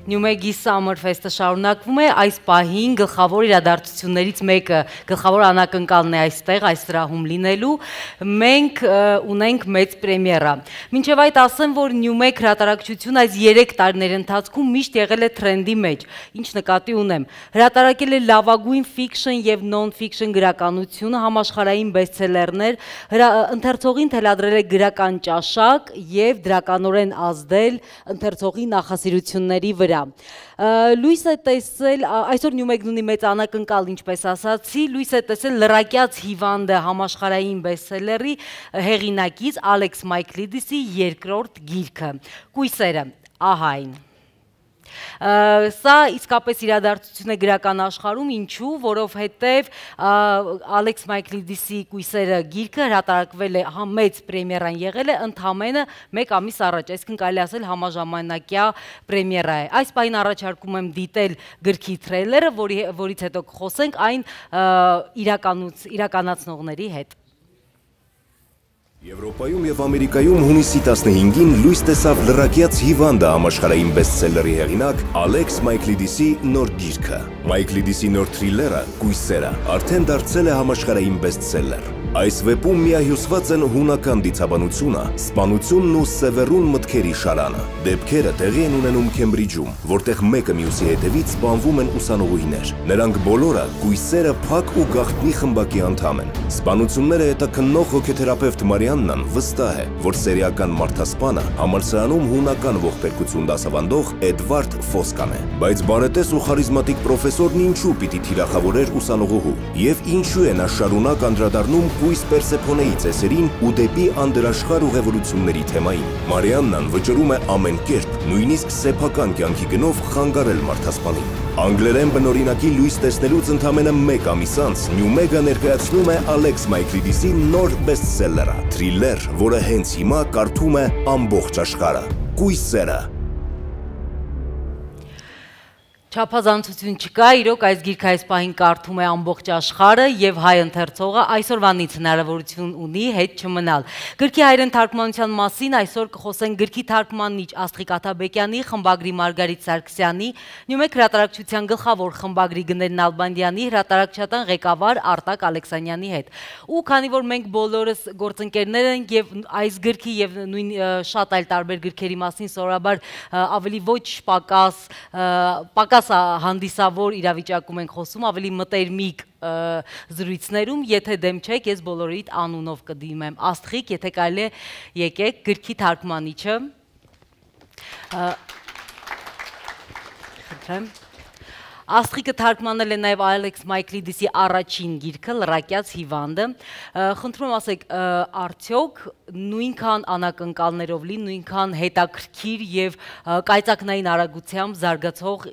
Նյումեգի Summer Fest-ը շարունակվում է, այս պահին գլխավոր իրադարձություններից մեկը, գլխավոր անակնկալն է այստեղ, այս սրահում լինելու, մենք ունենք մեծ պրեմիերա։ Մինչև այդ ասեմ, որ Նյումեգ հրատարակչություն այս 3 տարիների ընթացքում միշտ եղել է թրենդի մեջ, ինչ նկատի ունեմ։ Հրատարակել է լավագույն ֆիքշն եւ նոն-ֆիքշն գրականությունը, համաշխարհային բեսթսելերներ, ընթերցողին թելադրել է գրական ճաշակ եւ դրականորեն ազդել ընթերցողի նախասիրությունների վրա։ Լույս է տեսել, այսօր Նյումեգն ունի մեծ անակնկալ, ինչպես ասացի, լույս է տեսել Լրակյաց հիվանդը համաշխարհային բեսթսելերի հեղինակից Ալեքս Մայքլիդիսի երկրորդ գիրքը։ Կույսերը, ահա այն։ Սա իսկապես իրադարձություն է գրական աշխարհում, ինչու, որովհետև Ալեքս Մայքլիդիսի Կույսերը գիրքը հրատարակվել է, մեծ պրեմիերան եղել է ընդամենը 1 ամիս առաջ, այսինքն կարելի ասել համաժամանակյա պրեմիերա է։ Այս պահին առաջարկում եմ դիտել գրքի թրեյլերը, որից հետո կխոսենք այն իրականացնողների հետ։ Եվրոպայում եւ Ամերիկայում հունիսի 15-ին լույս տեսավ Լրակյաց հիվանդը համաշխարհային բեսթսելերի հեղինակ Ալեքս Մայքլիդիսի նոր գիրքը։ Մայքլիդիսի նոր թրիլերը Կույսերը արդեն դարձել է համաշխարհային բեսթսելեր։ Այս վեպում միահյուսված են հունական դիցաբանությունը, սպանությունն ու սևեռուն մտքերի շարանը։ Դեպքերը տեղի են ունենում Քեմբրիջում, որտեղ մեկը մյուսի հետևից սպանվում են ուսանողուհիներ։ Նրանք բոլորը Կույսերը փակ ու գաղտնի խմբակի անդամ են։ Սպանությունները հետաքննող հոգեթերապևտ Մարիաննան վստահ է, որ սերիական մարդասպանը համալսարանում հունական ողբերգություն դասավանդող Էդվարդ Ֆոսկան է։ Բայց բարետես ու խարիզմատիկ պրոֆեսորն ինչու պիտի թիրախավորեր ուսանողուհու եւ ինչու է նա շարունակ անդրադառնում Կույս Պերսեփոնեի ծեսերին ու դեպի անդրաշխարհ ուղևորությունների թեմային։ Մարիաննան վճռում է ամեն կերպ, նույնիսկ սեփական կյանքի գնով խանգարել մարդասպանին։ Անգլերեն բնօրինակի լույս տեսնելուց ընդամենը 1 ամիս անց Նյումեգը ներկայացնում է Ալեքս Մայքլիդիսի նոր բեսթսելերը, թրիլեր, որը հենց հիմա կարդում է ամբողջ աշխարհը։ Կույսերը։ Չափազանցություն չկա, իրոք այս գիրքը այս պահին կարդում է ամբողջ աշխարհը եւ հայ ընթերցողը այսօրվանից հնարավորություն ունի հետ չմնալ։ Գրքի հայերեն թարգմանության մասին այսօր կխոսենք գրքի թարգմանիչ Աստղիկ Աթաբեկյանի, խմբագրի Մարգարիտ Սարգսյանի, Նյումեգ հրատարակչության գլխավոր խմբագրի Գնել Նալբանդյանի, հրատարակչական ղեկավար Արտակ Ալեքսանյանի հետ։ Ու քանի որ մենք բոլորս գործընկերներ ենք եւ այս գրքի եւ նույն շատ այլ տարբեր գրքերի մասին սովորաբար ավելի ոչ պակաս հանդիսավոր իրավիճակում ենք խոսում, ավելի մտերմիկ զրույցներում, եթե դեմ չեք, ես բոլորիդ անունով կդիմեմ։ Աստղիկ, եթե կարելի է եկեք, գրքի թարգմանիչը։ Խնդրեմ։ Աստղիկը թարգմանել է նաև Ալեքս Մայքլիդիսի առաջին գիրքը Լրակյաց հիվանդը։ Խնդրում եմ ասեք, արդյոք նույնքան անակնկալներով լի, նույնքան հետաքրքիր եւ կայծակնային արագությամբ զարգացող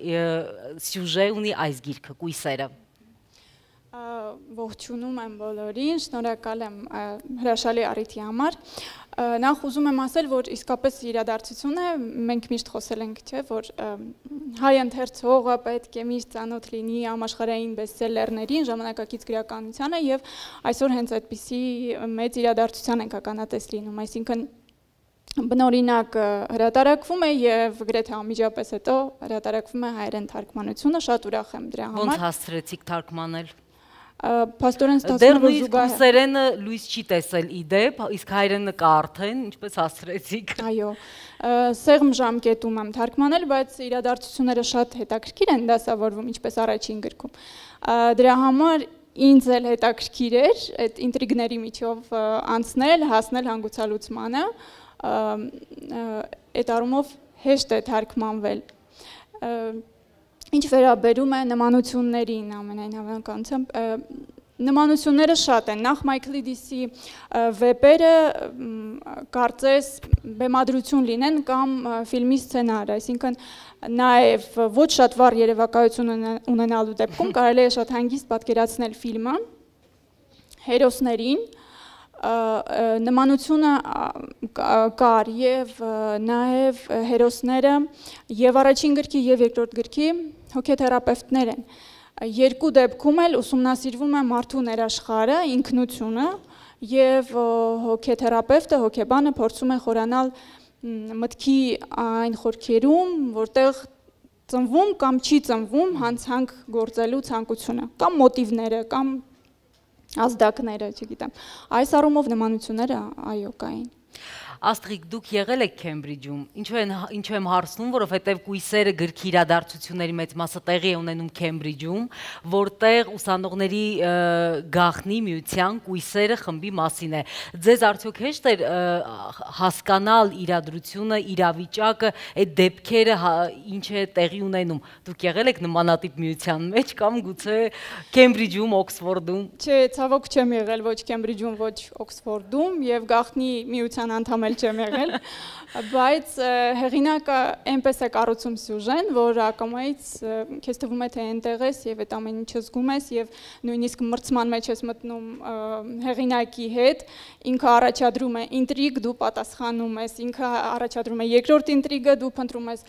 սյուժե ունի այս գիրքը, Կույսերը։ Ողջունում եմ բոլորին, շնորհակալ եմ հրաշալի առիթի համար։ Նախ ուզում եմ ասել, որ իսկապես իրադարձություն է, մենք միշտ խոսել ենք, չէ, որ հայ ընթերցողը պետք է միշտ ծանոթ լինի համաշխարհային բեսթսելերներին, ժամանակակից գրականությանը եւ այսօր հենց այդպիսի մեծ իրադարձության ենք ականատես լինում, այսինքն բնօրինակ հրատարակվում է եւ գրեթե անմիջապես հետո հրատարակվում է հայերեն թարգմանությունը, շատ ուրախ եմ դրա համար։ Ոնց հասցրեցիք թարգմանել։ Պաստորեն ստացվում է զուգահեռ Կույսերենը լույս չի տեսել իդեպ, իսկ հայերենը կա արդեն, ինչպես հասցրեցիք։ Այո, սեղմ ժամկետում եմ թարգմանել, բայց իրադարձությունները շատ հետաքրքիր են դասավորվում, ինչպես առաջին գրքում։ Դրա համար ինձ էլ հետաքրքիր էր այդ ինտրիգների միջով անցնել, հասնել հանգուցալուծմանը, այդ առումով հեշտ է թարգմանվել։ Ինչ վերաբերում է նմանություններին, ամենայն հավանականությամբ, նմանությունները շատ են։ Նախ Մայքլիդիսի վեպերը կարծես բեմադրություն լինեն կամ ֆիլմի սցենար, այսինքն նաև ոչ շատ վառ երևակայություն ունենալու դեպքում կարելի է շատ հանգիստ պատկերացնել ֆիլմը, հերոսներին, նմանությունը կար եւ նաեւ հերոսները եւ առաջին գրքի եւ երկրորդ գրքի հոգեթերապևտներ են։ Երկու դեպքում էլ ուսումնասիրվում է մարդու ներաշխարհը, ինքնությունը եւ հոգեթերապևտը, հոգեբանը փորձում է խորանալ մտքի այն խորքերում, որտեղ ծնվում կամ չի ծնվում հանցանք գործելու ցանկությունը, կամ մոտիվները, կամ ազդակները, չգիտեմ։ Այս առումով նմանությունները այո կային։ Աստղիկ, դուք եղել եք Քեմբրիջում, ինչու եմ հարցնում, որովհետև կույսերը գրքի իրադարձությունների մեծ մասը տեղի է ունենում Քեմբրիջում, որտեղ ուսանողների գաղտնի միության կույսերը խմբի մասին է։ Ձեզ արդյոք հեշտ էր հասկանալ իրադրությունը, իրավիճակը, այդ դեպքերը ինչ է տեղի ունենում։ Դուք եղել եք նմանատիպ միության մեջ կամ գուցե Քեմբրիջում, Օքսֆորդում։ Չէ, ցավոք չեմ եղել ոչ Քեմբրիջում, ոչ Օքսֆորդում եւ գաղտնի միության անդամ չեմ եղել, բայց հեղինակը այնպես է կառուցում սյուժեն, որ ակամայից քեզ թվում է թե այնտեղ ես եւ այդ ամեն ինչը զգում ես եւ նույնիսկ մրցման մեջ ես մտնում հեղինակի հետ, ինքը առաջադրում է ինտրիգ, դու պատասխանում ես, ինքը առաջադրում է երկրորդ ինտրիգը, դու փնտրում ես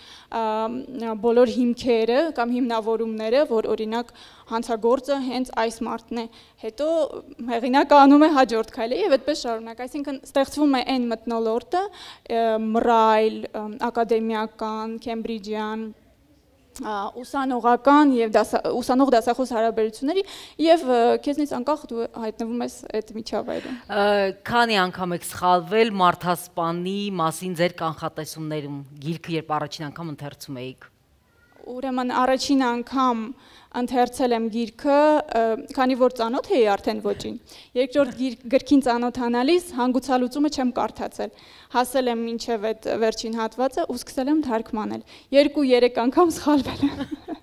բոլոր հիմքերը կամ հիմնավորումները, որ օրինակ հանցագործը հենց այս մարդն է, հետո հեղինակը անում է հաջորդ քայլը եւ այդպես շարունակ, այսինքն ստեղծվում է այն մթնոլորտը, մռայլ, ակադեմիական, քեմբրիջյան, ուսանողական եւ ուսանող դասախոս հարաբերությունների եւ քեզնից անկախ դու հայտնվում ես այդ միջավայրում։ Քանի անգամ եք սխալվել մարդասպանի մասին ձեր կանխատեսումներում, գիրքը երբ առաջին անգամ ընթերցում էիք։ Ուրեմն առաջին անգամ ընթերցել եմ գիրքը, քանի որ ծանոթ էի արդեն ոճին։ Երկրորդ գրքին ծանոթանալիս հանգուցալուծումը չեմ կարդացել։ Հասել եմ մինչև այդ վերջին հատվածը ու սկսել եմ թարգմանել։ 2-3 անգամ սխալվել եմ։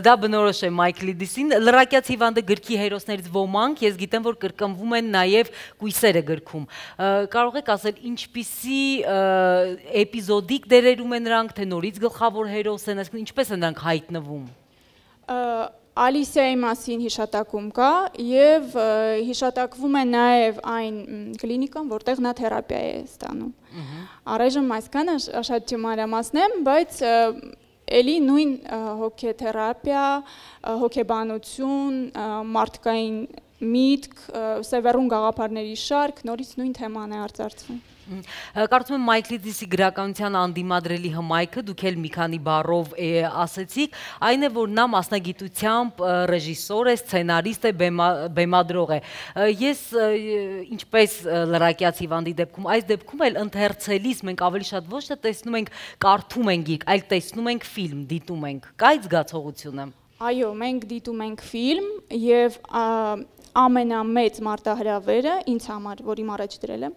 Դա բնորոշ է Մայքլիդիսին, լրակյաց հիվանդը գրքի հերոսներից ոմանք, ես գիտեմ, որ կրկնվում են նաև կույսերը գրքում։ Կարող եք ասել, ինչպիսի էպիզոդիկ դերերում են նրանք, թե նորից գլխավոր հերոս են, այսինքն ինչպես են նրանք հայտնվում։ Ալիսիայի մասին հիշատակում կա եւ հիշատակվում է նաեւ այն կլինիկան, որտեղ նա թերապիա է ստանում։ Առայժմ այսքանը շատ չմանրամասնեմ, բայց էլի նույն հոգեթերապիա, հոգեբանություն, մարդկային միտք, սևեռուն գաղափարների շարք, նորից նույն թեման է արծարծվում։ Կարծում եմ Մայքլիդիսի գրականության անդիմադրելի հմայքը, դուք էլ մի քանի բառով ասեցիք, այն է, որ նա մասնագիտությամբ ռեժիսոր է, սցենարիստ է, բեմադրող է։ Ես ինչպես լրակյաց հիվանդի դեպքում, այս դեպքում էլ ընթերցելիս մենք ավելի շատ ոչ թե տեսնում ենք, կարդում ենք գիրք, այլ տեսնում ենք ֆիլմ, դիտում ենք։ Կա այդ զգացողությունը։ Այո, մենք դիտում ենք ֆիլմ եւ ամենամեծ մարտահրավերը ինձ համար, որ իմ առաջ դրել եմ,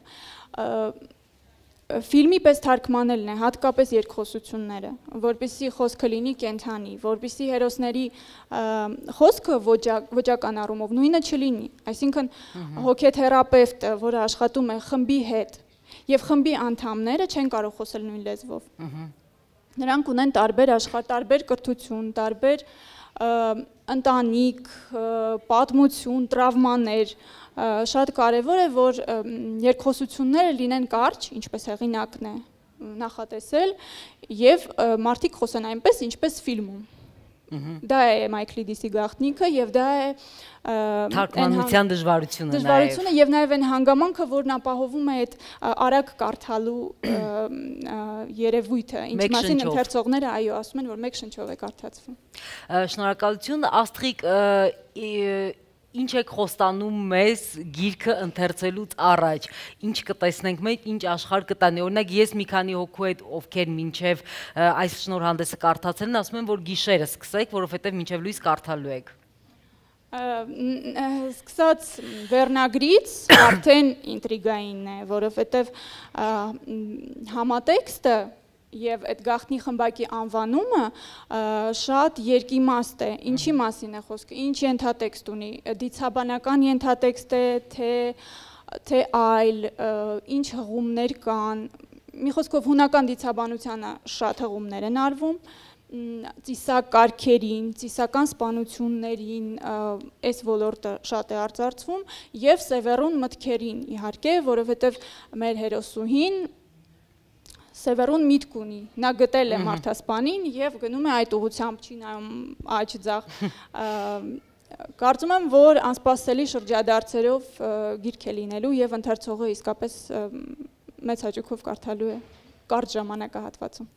ֆիլմի պես թարգմանելն է, հատկապես երկխոսությունները, որպեսզի խոսքը լինի կենթանի, որպեսզի հերոսների խոսքը ոճական առումով նույնը չլինի, այսինքն հոգեթերապևտը, որը աշխատում է խմբի հետ, եւ խմբի անդամները չեն կարող խոսել նույն լեզվով։ Նրանք ունեն տարբեր աշխարհ, տարբեր կրթություն, տարբեր ընտանիք, պատմություն, տրավմաներ, շատ կարևոր է, որ երկխոսությունները լինեն կարճ, ինչպես հեղինակն է նախատեսել, եւ մարդիկ խոսեն այնպես, ինչպես ֆիլմում։ Դա է Մայքլիդիսի գաղտնիքը եւ դա է թարգմանության դժվարությունը նաեւ։ Դժվարությունը եւ նաեւ այն հանգամանքը, որն ապահովում է այդ արագ կարդալու երևույթը, ինչ մասին ընթերցողները այո ասում են, որ մեկ շնչով է կարդացվում։ Շնորհակալություն, Աստղիկ, ինչ եք խոստանում մեզ գիրքը ընթերցելուց առաջ, ինչ կտեսնենք մենք, ինչ աշխարհ կտանի, օրինակ ես մի քանի հոգու հետ, ովքեր մինչև այս շնորհանդեսը կարդացել են, ասում են, որ գիշերը սկսեք, որովհետև մինչև լույս կարդալու եք։ Սկսած վերնագրից արդեն ինտրիգային է, որովհետև համատեքստը եւ այդ գաղտնի խմբակի անվանումը շատ երկիմաստ է, ինչի մասին է խոսքը, ինչ ենթատեքստ ունի, դիցաբանական ենթատեքստ է, թե այլ, ինչ հղումներ կան, մի խոսքով հունական դիցաբանությանը շատ հղումներ են արվում, ծիսակարգերին, ծիսական սպանություններին այս ոլորտը շատ է արծարծվում եւ սևեռուն մտքերին իհարկե, որովհետեւ մեր հերոսուհին սևեռուն միտք ունի, նա գտել է մարդասպանին եւ գնում է այդ ուղղությամբ, չի նայում աջ ձախ։ Կարծում եմ, որ անսպասելի շրջադարձերով գիրք է լինելու եւ ընթերցողը իսկապես մեծ հաճույքով կարդալու է։ կարճ ժամանակահատվածում։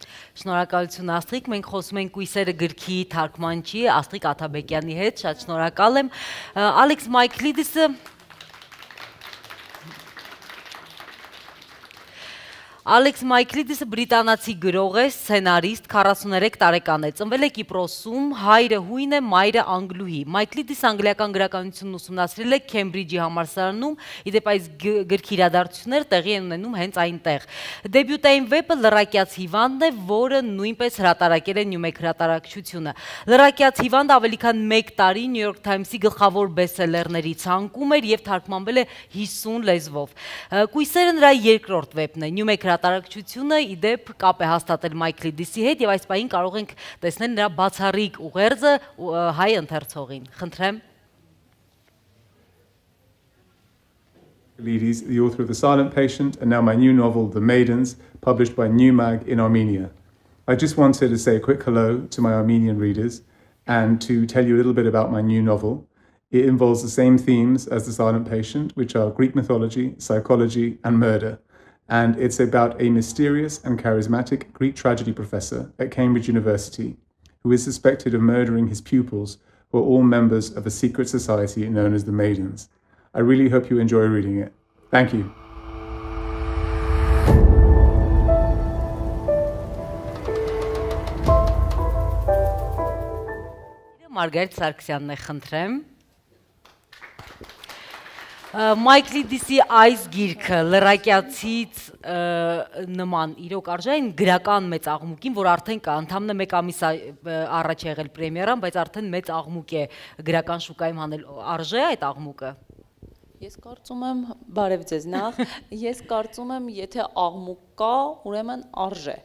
Շնորհակալություն Աստղիկ, մենք խոսում ենք Կույսերը գրքի թարգմանչի Աստղիկ Աթաբեկյանի հետ, շատ շնորհակալ եմ։ Ալեքս Մայքլիդիսը Ալեքս Մայքլիդիսը բրիտանացի գրող է, սցենարիստ, 43 տարեկան է, ծնվել է Կիպրոսում, հայրը հույն է, մայրը անգլուհի։ Մայքլիդիսը անգլիական գրականությունն ուսումնասիրել է Քեմբրիջի համալսարանում, իդեպ այս գրքի իրադարձությունները տեղի են ունենում հենց այնտեղ։ Դեբյուտային վեպը Լրակյաց հիվանդն է, որը նույնպես հրատարակել է Նյումեկ հրատարակչությունը։ Լրակյաց հիվանդը ավելի քան 1 տարի New York Times-ի գլխավոր բեսթսելերների ցանկում էր եւ թարգմանվել է 50 լեզվով։ Կույսերը նրա երկրորդ վեպն է, Նյումեկ հրատարակչությունը իդեպ կապ է հաստատել Մայքլիդիսի հետ եւ այս պահին կարող ենք տեսնել նրա բացառիկ ուղերձը հայ ընթերցողին։ Խնդրեմ։ Myklides, the author of The Silent Patient and now my new novel, The Maidens, published by Newmag in Armenia. I just wanted to say a quick hello to my Armenian readers and to tell you a little bit about my new novel. It involves the same themes as The Silent Patient, which are Greek mythology, psychology, and murder. And it's about a mysterious and charismatic Greek tragedy professor at Cambridge University who is suspected of murdering his pupils, who are all members of a secret society known as the Maidens. I really hope you enjoy reading it. Thank you. Մարգարիտ Սարգսյանն է, խնդրեմ։ Մայքլիդիսի այս գիրքը լրակյացից նման իրոք արժե այն գրական մեծ աղմուկին, որ արդեն կա, ընդամենը 1 ամիս առաջ եղել պրեմիերան, բայց արդեն մեծ աղմուկ է գրական շուկայում հանել, արժե այդ աղմուկը։ Ես կարծում եմ, բարև ձեզ նախ, ես կարծում եմ, եթե աղմուկ կա, ուրեմն արժե,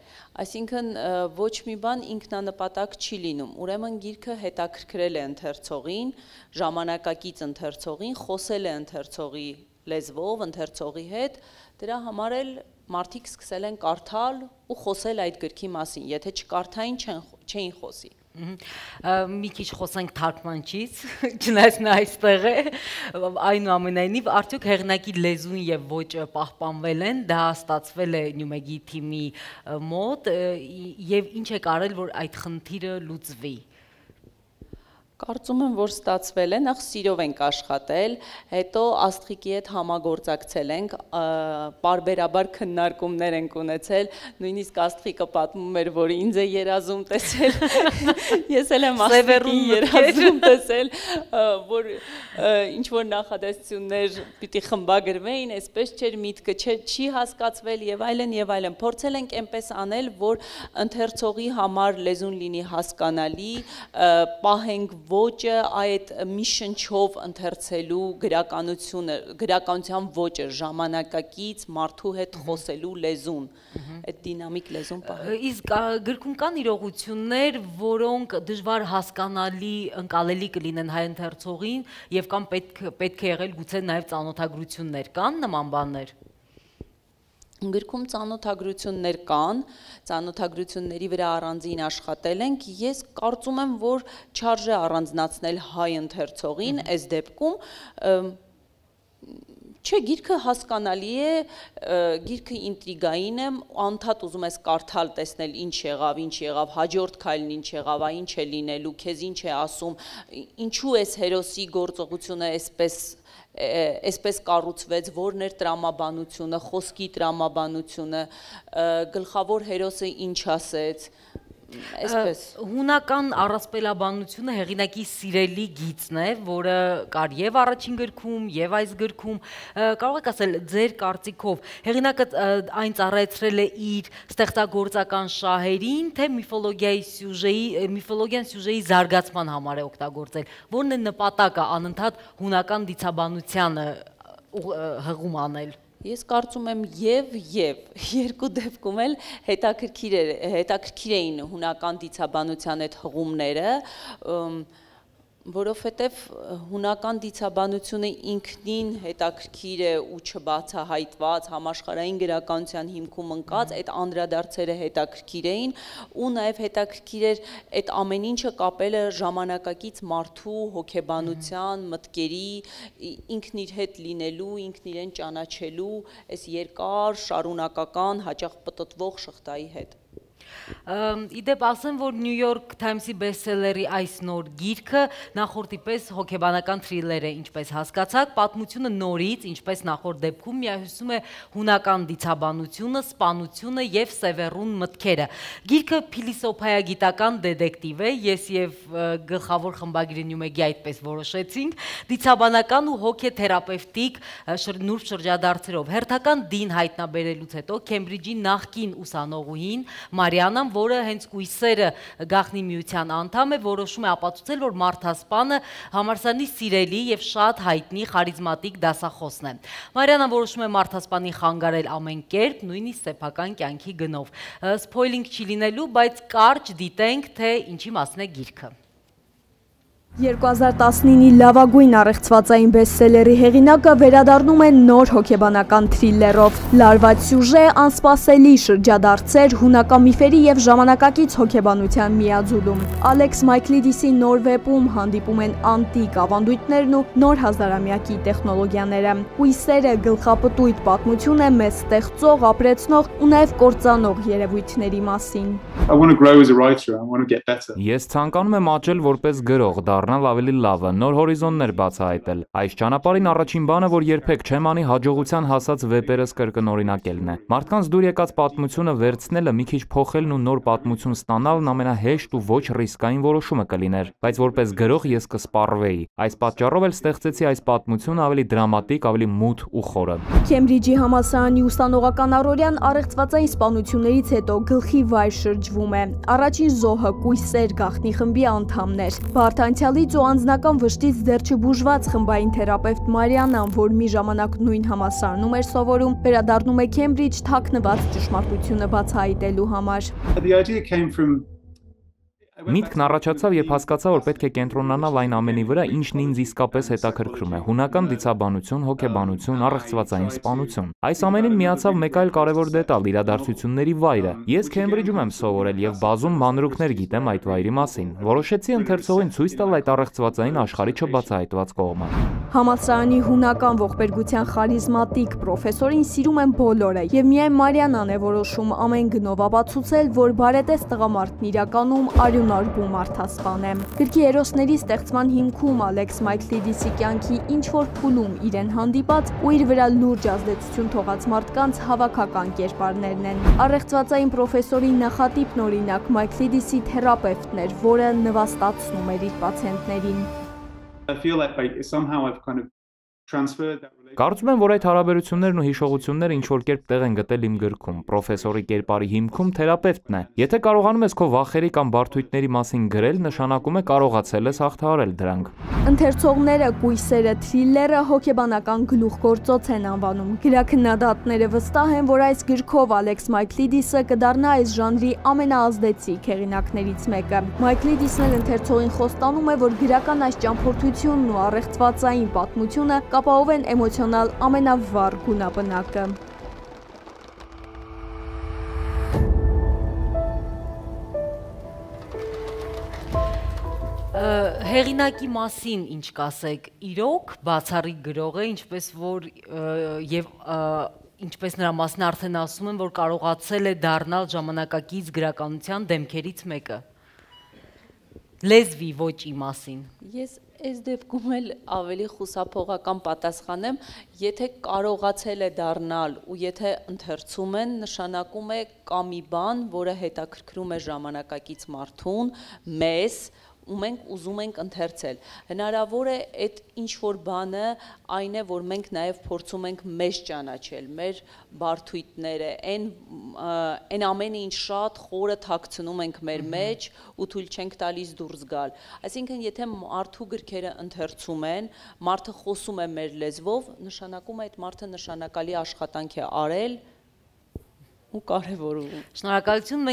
այսինքն ոչ մի բան ինքնանպատակ չի լինում, ուրեմն գիրքը հետաքրքրել է ընթերցողին, ժամանակակից ընթերցողին, խոսել է ընթերցողի լեզվով, ընթերցողի հետ, դրա համար էլ մարդիկ սկսել են կարդալ ու խոսել այդ գրքի մասին, եթե չկարդային չէին խոսի։ Մի քիչ խոսենք թարգմանչից, չնայած նա այստեղ է, այնուամենայնիվ արդյոք հեղինակի լեզուն եւ ոճը պահպանվել են, դա ստացվել է Նյումեգի թիմի մոտ եւ ինչ է կարել, որ այդ խնդիրը լուծվի։ Կարծում եմ, որ ստացվել է, նախ սիրով ենք աշխատել, հետո Աստղիկի հետ համագործակցել ենք, պարբերաբար քննարկումներ ենք ունեցել, նույնիսկ Աստղիկը պատմում էր, որ ինձ է երազում տեսել, ես էլ եմ Աստղիկին երազում տեսել, որ ինչ-որ նախադասություններ պիտի խմբագրվեին, այսպես չէր միտքը, չի հասկացվել եւ այլն, փորձել ենք այնպես անել, որ ընթերցողի համար լեզուն լինի հասկանալի, պահենք ոճը, այդ մի շնչով ընթերցելու գրականության ոճը, ժամանակակից մարդու հետ խոսելու լեզուն, այդ դինամիկ լեզուն պահել։ Իսկ գրքում կան իրողություններ, որոնք դժվար հասկանալի, ընկալելի կլինեն հայ ընթերցողին եւ կամ պետք է եղել գուցե նաեւ ծանոթագրություններ, կան նման բաներ։ Գրքում ծանոթագրություններ կան, ծանոթագրությունների վրա առանձին աշխատել ենք, ես կարծում եմ, որ չարժե առանձնացնել հայ ընթերցողին, այս դեպքում, չէ, գիրքը հասկանալի է, գիրքը ինտրիգային է, անդադ ուզում ես կարդալ, տեսնել ինչ եղավ, հաջորդ քայլն ինչ եղավ, ինչ է լինելու, քեզ ինչ է ասում, ինչու էս հերոսի գործողությունը այսպես կառուցվեց, որն էր տրամաբանությունը, խոսքի տրամաբանությունը, գլխավոր հերոսը ինչ ասեց, այսպես։ Հունական առասպելաբանությունը հեղինակի սիրելի գիծն է, որը կար եւ առաջին գրքում, եւ այս գրքում, կարող եք ասել ձեր կարծիքով, հեղինակը այն ծառայեցրել է իր ստեղծագործական շահերին, թե միֆոլոգիան սյուժեի զարգացման համար է օգտագործել, որն է նպատակը անընդհատ հունական դիցաբանությանը հղում անել։ Ես կարծում եմ եւ երկու դեպքում էլ հետաքրքիր էին հունական դիցաբանության այդ հղումները, Որովհետև հունական դիցաբանությունը ինքնին հետաքրքիր է ու չբացահայտված, համաշխարհային գրականության հիմքում ընկած, այդ անդրադարձերը հետաքրքիր էին ու նաև հետաքրքիր էր այդ ամեն ինչը կապելը ժամանակակից մարդու հոգեբանության, մտքերի, ինքն իր հետ լինելու, ինքն իրեն ճանաչելու, այս երկար, շարունակական, հաճախ պտտվող շղթայի հետ։ Իդեպ ասեմ, որ New York Times-ի բեսթսելերի այս նոր գիրքը նախորդի պես հոգեբանական թրիլեր է, ինչպես հասկացաք, պատմությունը նորից, ինչպես նախորդ դեպքում, միահյուսում է հունական դիցաբանությունը, սպանությունը և սևեռուն մտքերը։ Գիրքը փիլիսոփայագիտական դետեկտիվ է, ես և գլխավոր խմբագիրը Նյումեգի այդպես որոշեցինք, դիցաբանական ու հոգեթերապևտիկ նուրբ շրջադարձերով։ Հերթական դին հայտնաբերելուց հետո Քեմբրիջի նախկին ուսանողուհին Մարիանան, որը հենց կույսերը գաղտնի միության անդամ է, որոշում է ապացուցել, որ մարդասպանը համալսարանի սիրելի և շատ հայտնի խարիզմատիկ դասախոսն է։ Մարիանան որոշում է մարդասպանին խանգարել ամեն կերպ, նույնիսկ սեփական կյանքի գնով։ Սփոյլինգ չի լինելու, բայց կարճ դիտենք, թե ինչի մասին է գիրքը։ 2019-ի լավագույն առեղծվածային բեսթսելերի հեղինակը վերադառնում է նոր հոգեբանական թրիլերով։ Լարված սյուժե, անսպասելի շրջադարձեր, հունական միֆերի և ժամանակակից հոգեբանության միաձուլում։ Ալեքս Մայքլիդիսի նոր վեպում հանդիպում են անտիկ ավանդույթներն ու նոր հազարամյակի տեխնոլոգիաները։ Կույսերը գլխապտույտ պատմություն է մեզ ստեղծող, ապրեցնող ու նաև կործանող երևույթների մասին։ Ես ցանկանում եմ աճել որպես գրող, դառնալ ավելի լավը, նոր հորիզոններ բացահայտել։ Այս ճանապարհին առաջին բանը, որ երբեք չեմ անի, հաջողության հասած վեպերս կրկնօրինակելն է։ Մարդկանց դուր եկած պատմությունը վերցնելը, մի քիչ փոխելն ու նոր պատմություն ստանալն ամենահեշտ ու ոչ ռիսկային որոշումը կլիներ, բայց որպես գրող ես կսպառվեի։ Այս պատճառով էլ ստեղծեցի այս պատմությունը ավելի դրամատիկ, ավելի մութ ու խորը։ Քեմբրիջի համալսարանի ուսանողական առօրյան առեղծվածային սպանություններից հետո գլխի վայր շրջվում է։ Առաջին զոհը կույսեր գաղտնի խմբի անդամներ։ Բարդ անցյալից ու անձնական վշտից դեռ չբուժված խմբային թերապևտ Մարիանան, որ մի ժամանակ նույն համալսարանում էր սովորում, վերադառնում է Քեմբրիջ թաքնված ճշմարտությունը բացահայտելու համար։ Միտքն առաջացավ, երբ հասկացա, որ պետք է կենտրոնանալ այն ամենի վրա, ինչն ինձ իսկապես հետաքրքրում է՝ հունական դիցաբանություն, հոգեբանություն, առեղծվածային սպանություն։ Այս ամենին միացավ մեկ այլ կարևոր դետալ՝ իրադարձությունների վայրը։ Ես Քեմբրիջում եմ սովորել և բազում մանրուքներ գիտեմ այդ վայրի մասին։ Որոշեցի ընթերցողին ցույց տալ այդ առեղծվածային աշխարհի չբացահայտված կողմը։ Համալսարանի հունական ողբերգության խարիզմատիկ պրոֆեսորին սիրում են բոլորը, և միայն Մարիանան է որոշում ամեն գնով ապացուցել, որ բարետես տղամարդն իրականում արյունարբու մարդասպան է։ Գրքի հերոսների ստեղծման հիմքում Ալեքս Մայքլիդիսի կյանքի ինչ-որ փուլում իրեն հանդիպած ու իր վրա լուրջ ազդեցություն թողած մարդկանց հավաքական կերպարներն են։ Առեղծվածային պրոֆեսորի նախատիպն օրինակ Մայքլիդիսի թերապևտն էր, որը նվաստացնում էր իր պացիենտներին։ Կարծում եմ, որ այդ հարաբերություններն ու հիշողությունները ինչ-որ կերպ տեղ են գտել իմ գրքում։ Պրոֆեսորի կերպարի հիմքում թերապևտն է։ Եթե կարողանում ես քո վախերի կամ բարդույթների մասին գրել, նշանակում է կարողացել ես հաղթահարել դրանք։ Ընթերցողները կույսերը թրիլերը հոգեբանական գլուխգործոց են անվանում։ Գրաքննադատները վստահ են, որ այս գրքով Ալեքս Մայքլիդիսը կդառնա այս ժանրի ամենաազդեցիկ հեղինակներից մեկը։ Մայքլիդիսն էլ ընթերցողին խոստանում է, որ գրական այս ճամփորդությունն ու առեղծվածային պատմությունը կապահովեն էմոցիոնալ ամենավառ գունաբնակը։ Հեղինակի մասին ինչ կասեք, իրոք բացառիկ գրող է, ինչպես որ եւ ինչպես նրա մասին արդեն ասում են, որ կարողացել է դառնալ ժամանակակից գրականության դեմքերից մեկը։ Լեզվի ոճի մասին։ Ես այս դեպքում էլ ավելի խուսափողական պատասխանեմ, եթե կարողացել է դառնալ ու եթե ընթերցում են, նշանակում է կա մի բան, որը հետաքրքրում է ժամանակակից մարդուն, մեզ, ու մենք ուզում ենք ընթերցել։ Հնարավոր է այդ ինչ-որ բանը այն է, որ մենք նաև փորձում ենք մեզ ճանաչել, մեր բարդույթները, այն ամենը, ինչ շատ խորը թաքցնում ենք մեր մեջ ու թույլ չենք տալիս դուրս գալ։ Այսինքն, եթե մարդու գրքերը ընթերցում են, մարդը խոսում է մեր լեզվով, նշանակում է այդ մարդը նշանակալի աշխատանք է արել ու կարևորում։ Շնորհակալություն,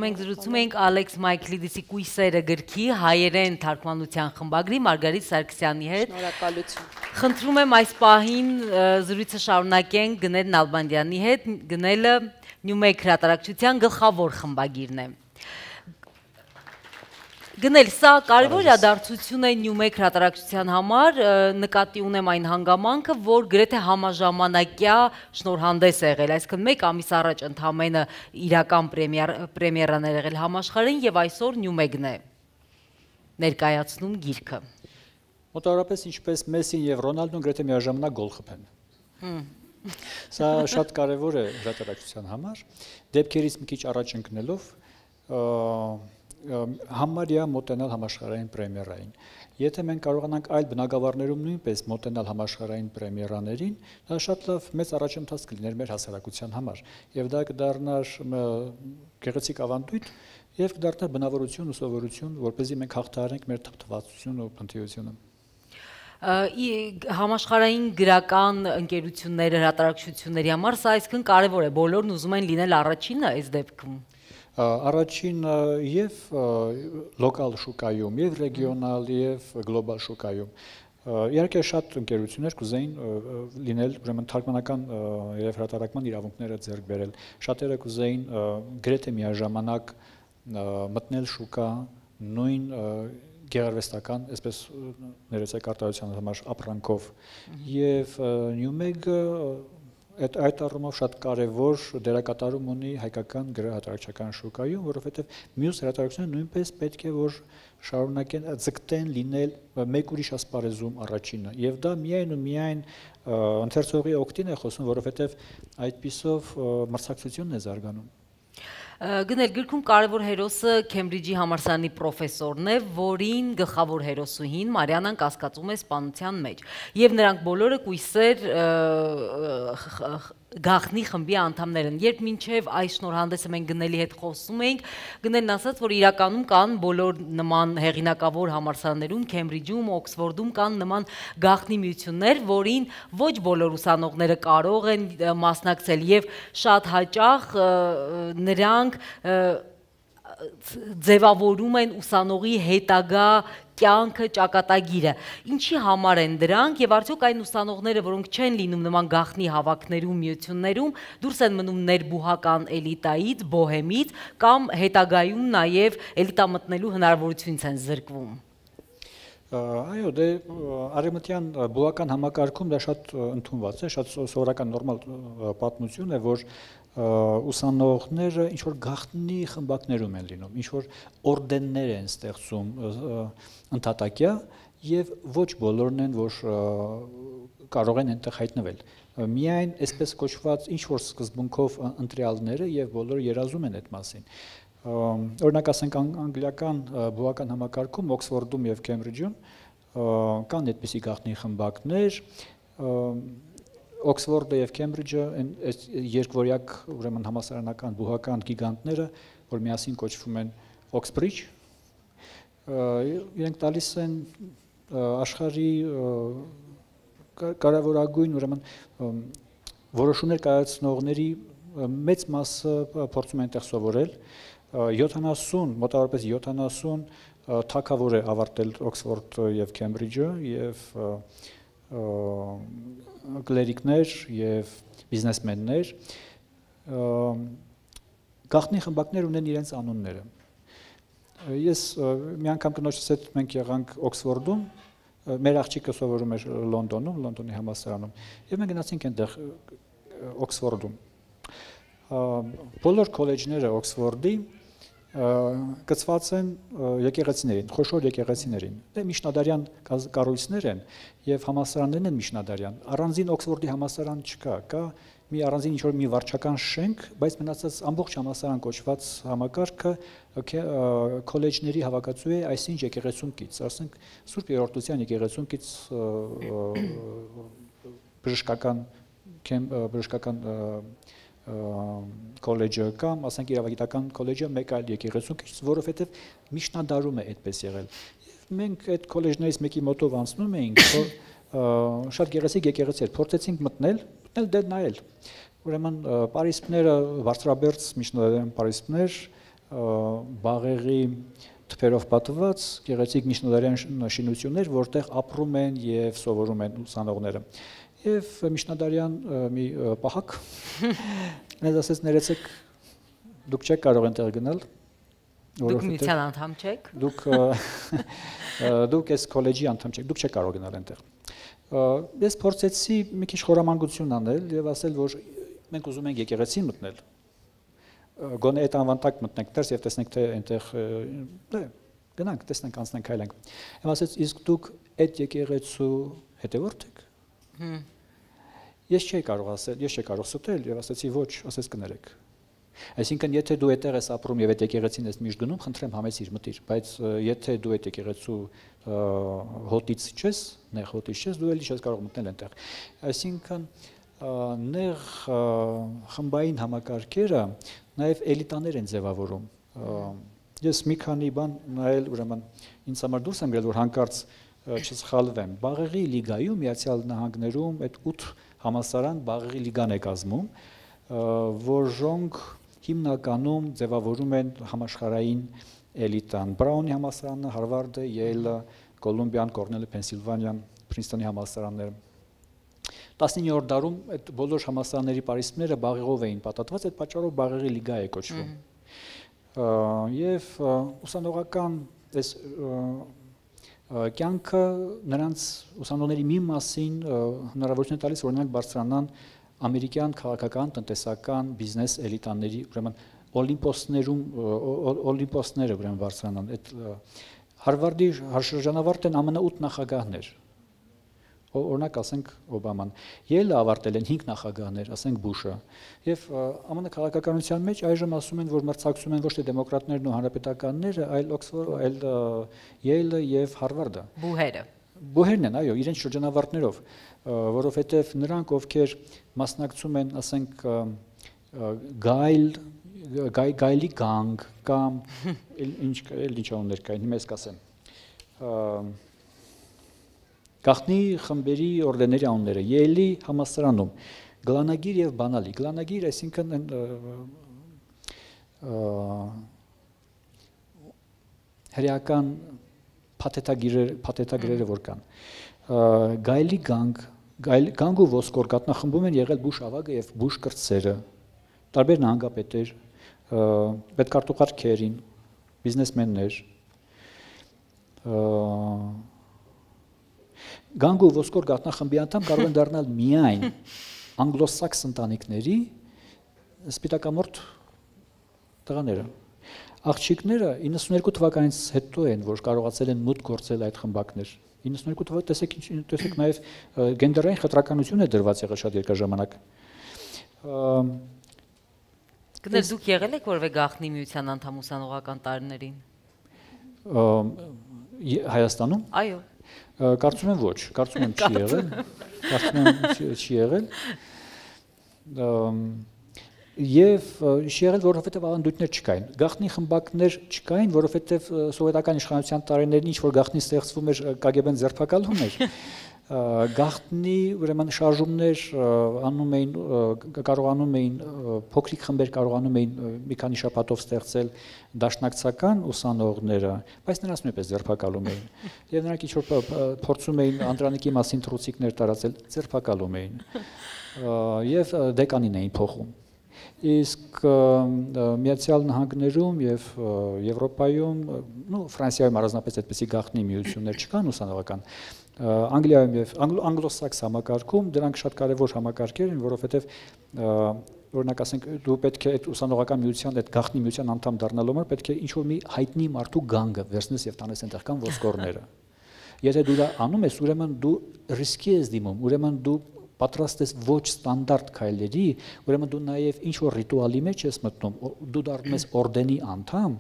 մենք զրուցում էինք Ալեքս Մայքլիդիսի «Կույսերը» գրքի հայերեն թարգմանության խմբագրի Մարգարիտ Սարգսյանի հետ։ Շնորհակալություն։ Խնդրում եմ այս պահին զրույցը շարունակենք Գնել Նալբանդյանի հետ, Գնելը Նյումեգ հրատարակչության գլխավոր խմբագիրն է։ Գնել, սա կարևոր իրադարձություն է Նյումեգ հրատարակչության համար, նկատի ունեմ այն հանգամանքը, որ գրեթե համաժամանակյա շնորհանդես է եղել, այսինքն մեկ ամիս առաջ ընդամենը իրական պրեմիերան է եղել համաշխարհային եւ այսօր Նյումեգն է ներկայացնում գիրքը։ Մոտավորապես ինչպես Մեսսին եւ Ռոնալդոն գրեթե միաժամանակ գոլ խփեն։ Սա շատ կարևոր է հրատարակչության համար, դեպքերից մի քիչ առաջ ընկնելով համարյա մոտենալ համաշխարհային պրեմիերային։ Եթե մենք կարողանանք այլ բնագավառներում նույնպես մոտենալ համաշխարհային պրեմիերաներին, դա շատ լավ մեծ առաջընթաց կլիներ մեր հասարակության համար, եւ դա կդառնար գեղեցիկ ավանդույթ եւ կդառնար բնավորություն ու սովորություն, որպեսզի մենք հաղթահարենք մեր թվացությունը ու փնթիությունը։ Համաշխարհային գրական ընկերությունները, հրատարակչությունների համար սա այսքան կարևոր է, բոլորն ուզում են լինել առաջինը այս դեպքում։ Առաջին եւ լոկալ շուկայում, եւ ռեգիոնալ, եւ գլոբալ շուկայում։ Իհարկե շատ ընկերություններ կուզեին լինել, ուրեմն թարգմանական եւ հրատարակման իրավունքները ձեռք բերել։ Շատերը կուզեին գրեթե միաժամանակ մտնել շուկա նույն գեղարվեստական, այսպես ներեցեք արտադրության համար ապրանքով, եւ Նյումեգը այդ առումով շատ կարևոր դերակատարում ունի հայկական գրահրատարակչական շուկայում, որովհետև մյուս հրատարակությունները նույնպես պետք է որ շարունակեն ձգտեն լինել մեկ ուրիշ ասպարեզում առաջինը, եւ դա միայն ու միայն ընթերցողի օգտին է խոսում, որովհետև այդպիսով մրցակցությունն է զարգանում։ Գնել գրքում կարևոր հերոսը Քեմբրիջի համալսարանի պրոֆեսորն է, որին գլխավոր հերոսուհին Մարիանան կասկածում է սպանության մեջ։ Եվ նրանք բոլորը կույսեր գաղտնի խմբի անդամներ են։ Երբ մինչև այս շնորհանդեսը մենք Գնելի հետ խոսում էինք, Գնելն ասաց, որ իրականում կան բոլոր նման հեղինակավոր համալսարաններում, Քեմբրիջում, Օքսֆորդում կան նման գաղտնի միություններ, որին ոչ բոլոր ուսանողները կարող են մասնակցել եւ շատ հաճախ նրանք ձևավորում են ուսանողի հետագա կյանքը, ճակատագիրը։ Ինչի համար են դրանք եւ արդյոք այն ուսանողները, որոնք չեն լինում նման գաղտնի հավաքներում, միություններում, դուրս են մնում ներբուհական էլիտայից, բոհեմից կամ հետագայում նաեւ էլիտա մտնելու հնարավորությունից են զրկվում։ Այո, դե արևմտյան բուհական համակարգում դա շատ ընդունված է, շատ սովորական նորմալ պատմություն է, որ ուսանողները ինչ որ գաղտնի խմբակներում են լինում, ինչ որ օրդեններ են ստեղծում ընդհատակյա եւ ոչ բոլորն են, որ կարող են այնտեղ հայտնվել։ Միայն այսպես կոչված ինչ որ սկզբունքով ընտրյալները եւ բոլորը երազում են այդ մասին։ Օրինակ ասենք անգլիական բուհական համակարգում Օքսֆորդում եւ Քեմբրիջում կան այդպիսի գաղտնի խմբակներ, Օքսֆորդը եւ Քեմբրիջը այս երկվորյակ ուրեմն համալսարանական բուհական գիգանտները, որ միասին կոչվում են Oxbridge, իրենք տալիս են աշխարհի կարևորագույն ուրեմն որոշումներ կայացնողների մեծ մասը փորձում են այդտեղ սովորել, 70 մոտավորապես 70 թագավոր է ավարտել Օքսֆորդ եւ Քեմբրիջը եւ կլերիկներ եւ բիզնեսմեններ գաղտնի խմբակներ ունեն իրենց անունները։ Ես մի անգամ կնոջս հետ մենք եղանք Օքսֆորդում, մեր աղջիկը սովորում էր Լոնդոնում, Լոնդոնի համալսարանում, եւ մենք գնացինք այնտեղ Օքսֆորդում։ Բոլոր քոլեջները Օքսֆորդի կցված են եկեղեցիներին, խոշոր եկեղեցիներին։ Դե միջնադարյան կառույցներ են եւ համալսարաններն են միջնադարյան։ Առանձին Օքսֆորդի համալսարան չկա, կա մի առանձին ինչ-որ մի վարչական շենք, բայց մնացած ամբողջ համալսարան կոչված համակարգը քոլեջների հավաքածու է այսինչ եկեղեցուն կից, ասենք Սուրբ Երրորդության եկեղեցուն կից բժշկական քոլեջը կամ ասենք իրավագիտական քոլեջը մեկ այլ եկեղեցու կից, որովհետև միջնադարում է այդպես եղել։ Եվ մենք այդ քոլեջներից մեկի մոտով անցնում էինք, շատ գեղեցիկ եկեղեցի էր, փորձեցինք մտնել դե նայել։ ուրեմն պարիսպները բարձրաբերձ միջնադարյան պարիսպներ, բաղեղի թփերով պատված գեղեցիկ միջնադարյան շինություններ, որտեղ ապրում են եւ սովորում են ուսանողները։ Եվ միջնադարյան մի պահակ ինձ ասեց ներեցեք դուք չեք կարող այնտեղ գնալ։ Դուք միության անդամ չեք։ Դուք այս քոլեջի անդամ չեք, դուք չեք կարող գնալ այնտեղ։ Ես փորձեցի մի քիչ խորամանկություն անել եւ ասել, որ մենք ուզում ենք եկեղեցին մտնել։ Գոնե այդ անվանտակ մտնենք դերս եւ տեսնենք թե այնտեղ գնանք, տեսնենք, անցնենք, այլենք։ Եմ ասեց, իսկ դուք այդ եկեղեցու հետևորդ եք։ Ես չէի կարող ասել, ես չէի կարող ստել եւ ասեցի ոչ, ասես կներեք։ Այսինքն եթե դու այդտեղ ես ապրում եւ այդ եկեղեցին ես միշտ գնում, խնդրեմ համեցիր մտիր, բայց եթե դու այդ եկեղեցու հոտից չես, նեղ հոտից չես, դու էլի չես կարող մտնել այնտեղ։ Այսինքն նեղ խմբային համակարգերը նաեւ էլիտաներ են ձևավորում։ Ես մի քանի բան նայել, ուրեմն ինձ համար դուրս եմ գալու, որ հանկարծ չսխալվեմ։ Բաղեղի լիգայում Միացյալ Նահանգներում այդ 8 համալսարան Բաղեղի լիգան է կազմում, որոնք հիմնականում ձևավորում են համաշխարհային էլիտան։ Բրաունի համալսարանը, Հարվարդը, Յեյլը, Կոլումբիան, Կորնելը, Փենսիլվանիան, Փրինսթոնի համալսարանները։ 19-րդ դարում այդ բոլոր համալսարանների պարիսպները բաղեղով էին պատատված, այդ պատճառով Բաղեղի լիգա է կոչվում։ Եվ ուսանողական այս կյանքը նրանց ուսանողների մի մասին հնարավորություն է տալիս, որ նրանք բարձրանան ամերիկյան քաղաքական, տնտեսական, բիզնես էլիտաների, ուրեմն օլիմպոսները ուրեմն բարձրանան։ Այդ Հարվարդի շրջանավարտն ԱՄՆ 8 նախագահներ։ Օրինակ ասենք Օբաման, Յելը ավարտել են 5 նախագահներ, ասենք Բուշը, եւ ԱՄՆ քաղաքականության մեջ այժմ ասում են, որ մրցակցում են ոչ թե դեմոկրատներն ու հանրապետականները, այլ Յելը եւ Հարվարդը։ Բուհերն են, այո, իրենց շրջանավարտներով, որովհետեւ նրանք ովքեր մասնակցում են, ասենք Գայլի գանգ կամ ինչ անուններ կային, հիմա ես կասեմ։ Գաղտնի խմբերի օրդեների անունները Յեյլի համալսարանում գլանագիր եւ բանալի։ Գլանագիր, այսինքն հրեական փաթեթագրերը որ կան։ Գայլի գանգ ու ոսկոր կատնախմբում են եղել Բուշ ավագը եւ Բուշ կրտսերը, տարբեր նահանգապետեր, պետքարտուղար Քերին, բիզնեսմեններ։ Գանգ ու ոսկոր գատնախմբի անդամ կարող են դառնալ միայն անգլոսաքս ընտանիքների սպիտակամորթ տղաները։ Աղջիկները 92 թվականից հետո են, որ կարողացել են մուտք գործել այդ խմբակներ։ 92 թվականից տեսեք նաև գենդերային խտրականություն է դրված եղել շատ երկար ժամանակ։ Գիտես դուք եղել եք որևէ գաղտնի միության անդամ ուսանողական տարիներին։ Հայաստանում։ Այո։ Կարծում եմ ոչ, կարծում եմ չի եղել, կարծում եմ չի եղել, եւ չի եղել, որովհետեւ ավանդույթներ չկային, գաղտնի խմբակներ չկային, որովհետեւ սովետական իշխանության տարիներին ինչ որ գաղտնի ստեղծվում էր, KGB-ն ձերբակալում էր, գաղտնի ուրեմն շարժումներ անում էին, կարողանում էին փոքրիկ խմբեր կարողանում էին մի քանի շաբաթով ստեղծել դաշնակցական ուսանողները, բայց նրանց նույնպես ձերբակալում էին։ Եվ նրանք ինչ որ փորձում էին Անդրանիկի մասին թռուցիկներ տարածել, ձերբակալում էին։ Եվ դեկանին էին փոխում։ Իսկ Միացյալ Նահանգներում եւ Եվրոպայում, Ֆրանսիայում առանձնապես այդպիսի գաղտնի միություններ չկան ուսանողական։ Անգլիայում եւ անգլոսաքս համակարգում դրանք շատ կարեւոր համակարգեր են, որովհետեւ օրինակ ասենք դու պետք է այդ ուսանողական միության, այդ գաղտնի միության անդամ դառնալու համար պետք է ինչ-որ մի հայտնի մարդու գանգը վերցնես եւ տանես այնտեղ կան ոսկորները։ Եթե դու դա անում ես, ուրեմն դու ռիսկի ես դիմում, ուրեմն դու պատրաստ ես ոչ ստանդարտ քայլերի, ուրեմն դու նաև ինչ-որ ռիտուալի մեջ ես մտնում, դու դառնում ես օրդենի անդամ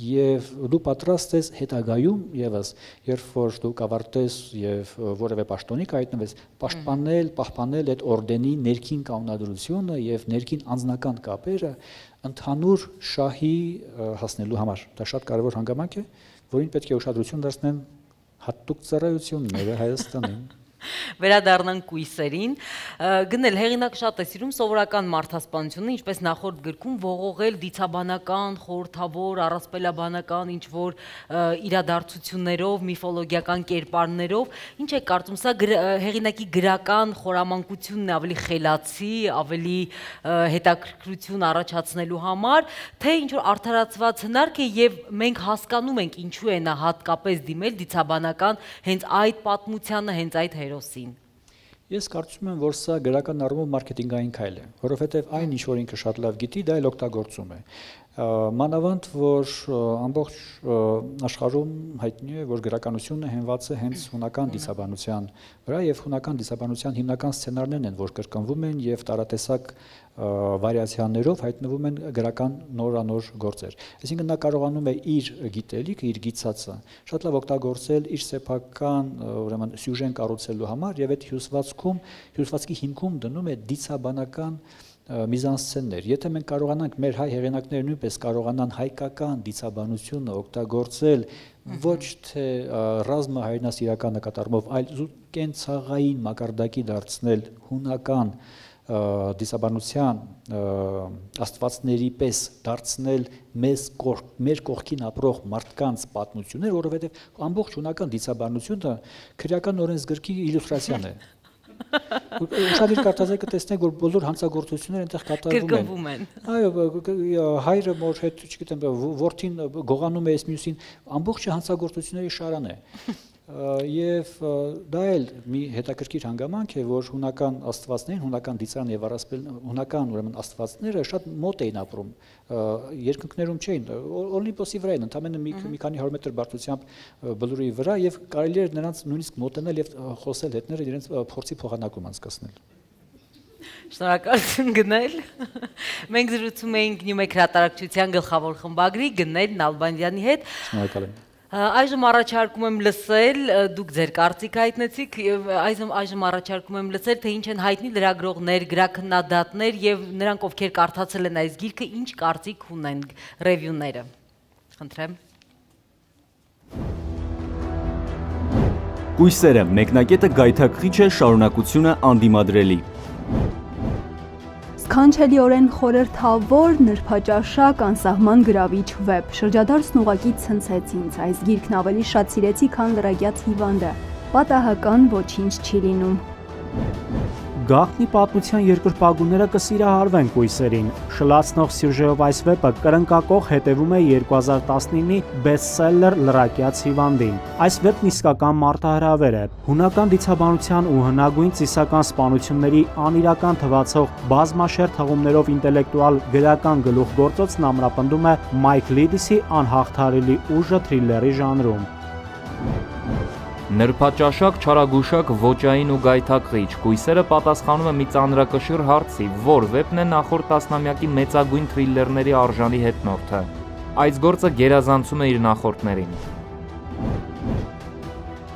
եւ դու պատրաստ ես հետագայում եւս, երբ որ դու կավարտես եւ որևէ պաշտոնի կայտնվես, պահպանել այդ օրդենի ներքին կանոնադրությունը եւ ներքին անձնական կապերը ընդհանուր շահի հասնելու համար։ Դա շատ կարեւոր հանգամանք է, որին պետք է ուշադրություն դարձնեն հատուկ ծառայությունները Հայաստանին։ Վերադառնանք կույսերին։ Գնել հեղինակը շատ է սիրում սովորական մարդասպանությունը, ինչպես նախորդ գրքում ողողել դիցաբանական, խորհրդավոր, առասպելաբանական ինչ-որ իրադարձություններով, միֆոլոգիական կերպարներով։ Ինչ է կարծում, սա հեղինակի գրական խորամանկությունն է ավելի խելացի, ավելի հետաքրքրություն առաջացնելու համար, թե ինչ-որ արդարացված հնարք է եւ մենք հասկանում ենք ինչու է նա հատկապես դիմել դիցաբանական հենց այդ պատմությանը, հենց այդ հերոսին։ Ես կարծում եմ, որ սա գրական առումով մարքեթինգային քայլ է, որովհետև այն ինչ որ ինքը շատ լավ գիտի, դա էլ օգտագործում է։ Մանավանդ որ ամբողջ աշխարհում հայտնի է, որ գրականությունը հենված է հենց հունական դիցաբանության վրա եւ հունական դիցաբանության հիմնական սցենարներն են, որ կրկնվում են եւ տարատեսակ վարիացիաներով հայտնվում են գրական նորանոր գործեր։ Այսինքն նա կարողանում է իր գիտելիքը, իր գիծածը շատ լավ օգտագործել իր սեփական, ուրեմն սյուժեն կառուցելու համար եւ այդ հյուսվածքի հիմքում դնում է դիցաբանական միզանսցեններ։ Եթե մենք կարողանանք մեր հայ հեղինակները նույնպես կարողանան հայկական դիցաբանությունը օգտագործել ոչ թե ռազմահայրենասիրական նկատառումով, այլ կենցաղային մակարդակի դարձնել հունական դիցաբանության աստվածների պես դարձնել մեր կողքին ապրող մարդկանց պատմություններ, որովհետև ամբողջ հունական դիցաբանությունը քրեական օրենսգրքի իլյուստրացիան է։ Ուշադիր կարդացեք կտեսնեք, որ բոլոր հանցագործությունները այնտեղ կատարվում են։ Այո, հայրը մոր հետ, չգիտեմ, որդին գողանում է այս մյուսին, ամբողջ հանցագործությունների շարան է։ Եվ դա էլ մի հետաքրքիր հանգամանք է, որ հունական աստվածներին, հունական դիցարան եւ հունական ուրեմն աստվածները շատ մոտ էին ապրում, երկնքներում չէին, Օլիմպոսի վրա էին, ընդամենը մի քանի 100 մետր բարձրությամբ բլուրի վրա եւ կարելի էր նրանց նույնիսկ մոտենալ եւ խոսել հետները իրենց փորձի փոխանակում անցկացնել։ Շնորհակալություն Գնել։ Մենք զրուցում էինք Նյումեկ հրատարակչության գլխավոր խմբագրի Գնել Նալբանդյանի հետ։ Շնորհակալ եմ։ Այժմ առաջարկում եմ լսել, դուք ձեր կարծիք հայտնեցիք, այժմ առաջարկում եմ լսել, թե ինչ են հայտնի լրագրողներ, գրաքննադատներ եւ նրանք, ովքեր կարդացել են այս գիրքը, ինչ կարծիք ունեն ռևյուները։ Խնդրեմ։ Կույսերը մեկնակետը գայթակղիչ է, շարունակությունը անդիմադրելի։ Սքանչելիորեն խորհրդավոր, նրբաճաշակ, անսահման գրավիչ վեպ։ Շրջադարձն ուղղակի ցնցեց ինձ, այս գիրքն ավելի շատ սիրեցի, քան լրագյաց հիվանդը։ Պատահական ոչինչ չի լինում։ Գաղտնի պատմության երկրպագուները կսիրահարվեն կույսերին։ Շլացնող սյուժեով այս վեպը կրնկակող հետևում է 2019-ի բեսթսելլեր լրակյաց հիվանդին։ Այս վեպն իսկական մարտահրավեր է։ Հունական դիցաբանության ու հնագույն ծիսական սպանությունների անիրական թվացող բազմաշերտ հղումներով ինտելեկտուալ գրական գլուխգործոցն ամրապնդում է Մայք Լիդիսի անհաղթարելի ուժը թրիլերի ժանրում։ Նրբաճաշակ, չարագուշակ, ոճային ու գայթակղիչ կույսերը պատասխանում է մի ծանրակշիռ հարցի, որ վեպն է նախորդ տասնամյակի մեծագույն թրիլերների արժանի հետնորդը։ Այս գործը գերազանցում է իր նախորդներին։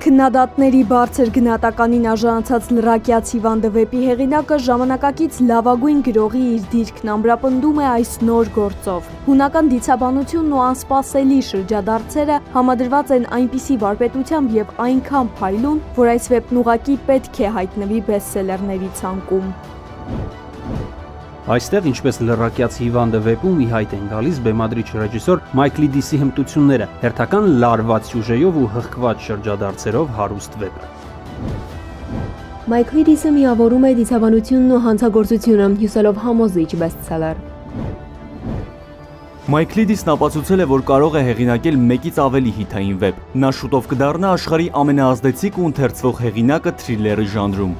Քննադատների բարձր գնահատականին արժանացած լրակյաց հիվանդը վեպի հեղինակը ժամանակակից լավագույն գրողի իր դիրքն ամրապնդում է այս նոր գործով։ Հունական դիցաբանությունն ու անսպասելի շրջադարձերը համադրված են այնպիսի վարպետությամբ եւ այնքան փայլուն, որ այս վեպն ուղղակի պետք է հայտնվի բեսթսելերների ցանկում։ Այստեղ, ինչպես լրակյաց հիվանդը վեպում ի հայտ են գալիս բեմադրիչ ռեժիսոր Մայք Լիդիսի հմտությունները, հերթական լարված սյուժեով ու հղկված շրջադարձերով հարուստ վեպը։ Մայք Լիդիսը միավորում է դիցաբանությունն ու հանցագործությունը, հյուսելով համոզիչ բեսթսելեր։ Մայք Լիդիսն ապացուցել է, որ կարող է հեղինակել մեկից ավելի հիթային վեպ։ Նա շուտով կդառնա աշխարհի ամենաազդեցիկ ու ընթերցվող հեղինակը թրիլերի ժանրում։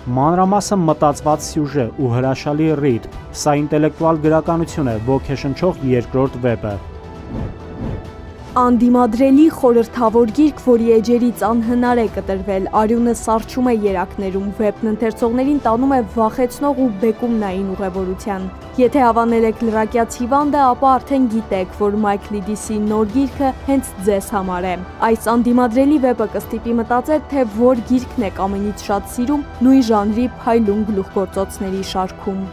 Մանրամասը մտածված սյուժե ու հրաշալի ռիթմ, սա ինտելեկտուալ գրականություն է, ոգեշնչող երկրորդ վեպը։ Անդիմադրելի խորհրդավոր գիրք, որի էջերից անհնար է կտրվել, արյունը սառչում է երակներում, վեպն ընթերցողներին տանում է վախեցնող ու բեկումնային ուղևորության։ Եթե հավանել եք լրակյաց հիվանդը, ապա արդեն գիտեք, որ Մայք Լիդիսի նոր գիրքը հենց ձեզ համար է։ Այս անդիմադրելի վեպը կստիպի մտածել, թե որ գիրքն եք ամենից շատ սիրում նույն ժանրի փայլուն գլուխգործոցների շարքում։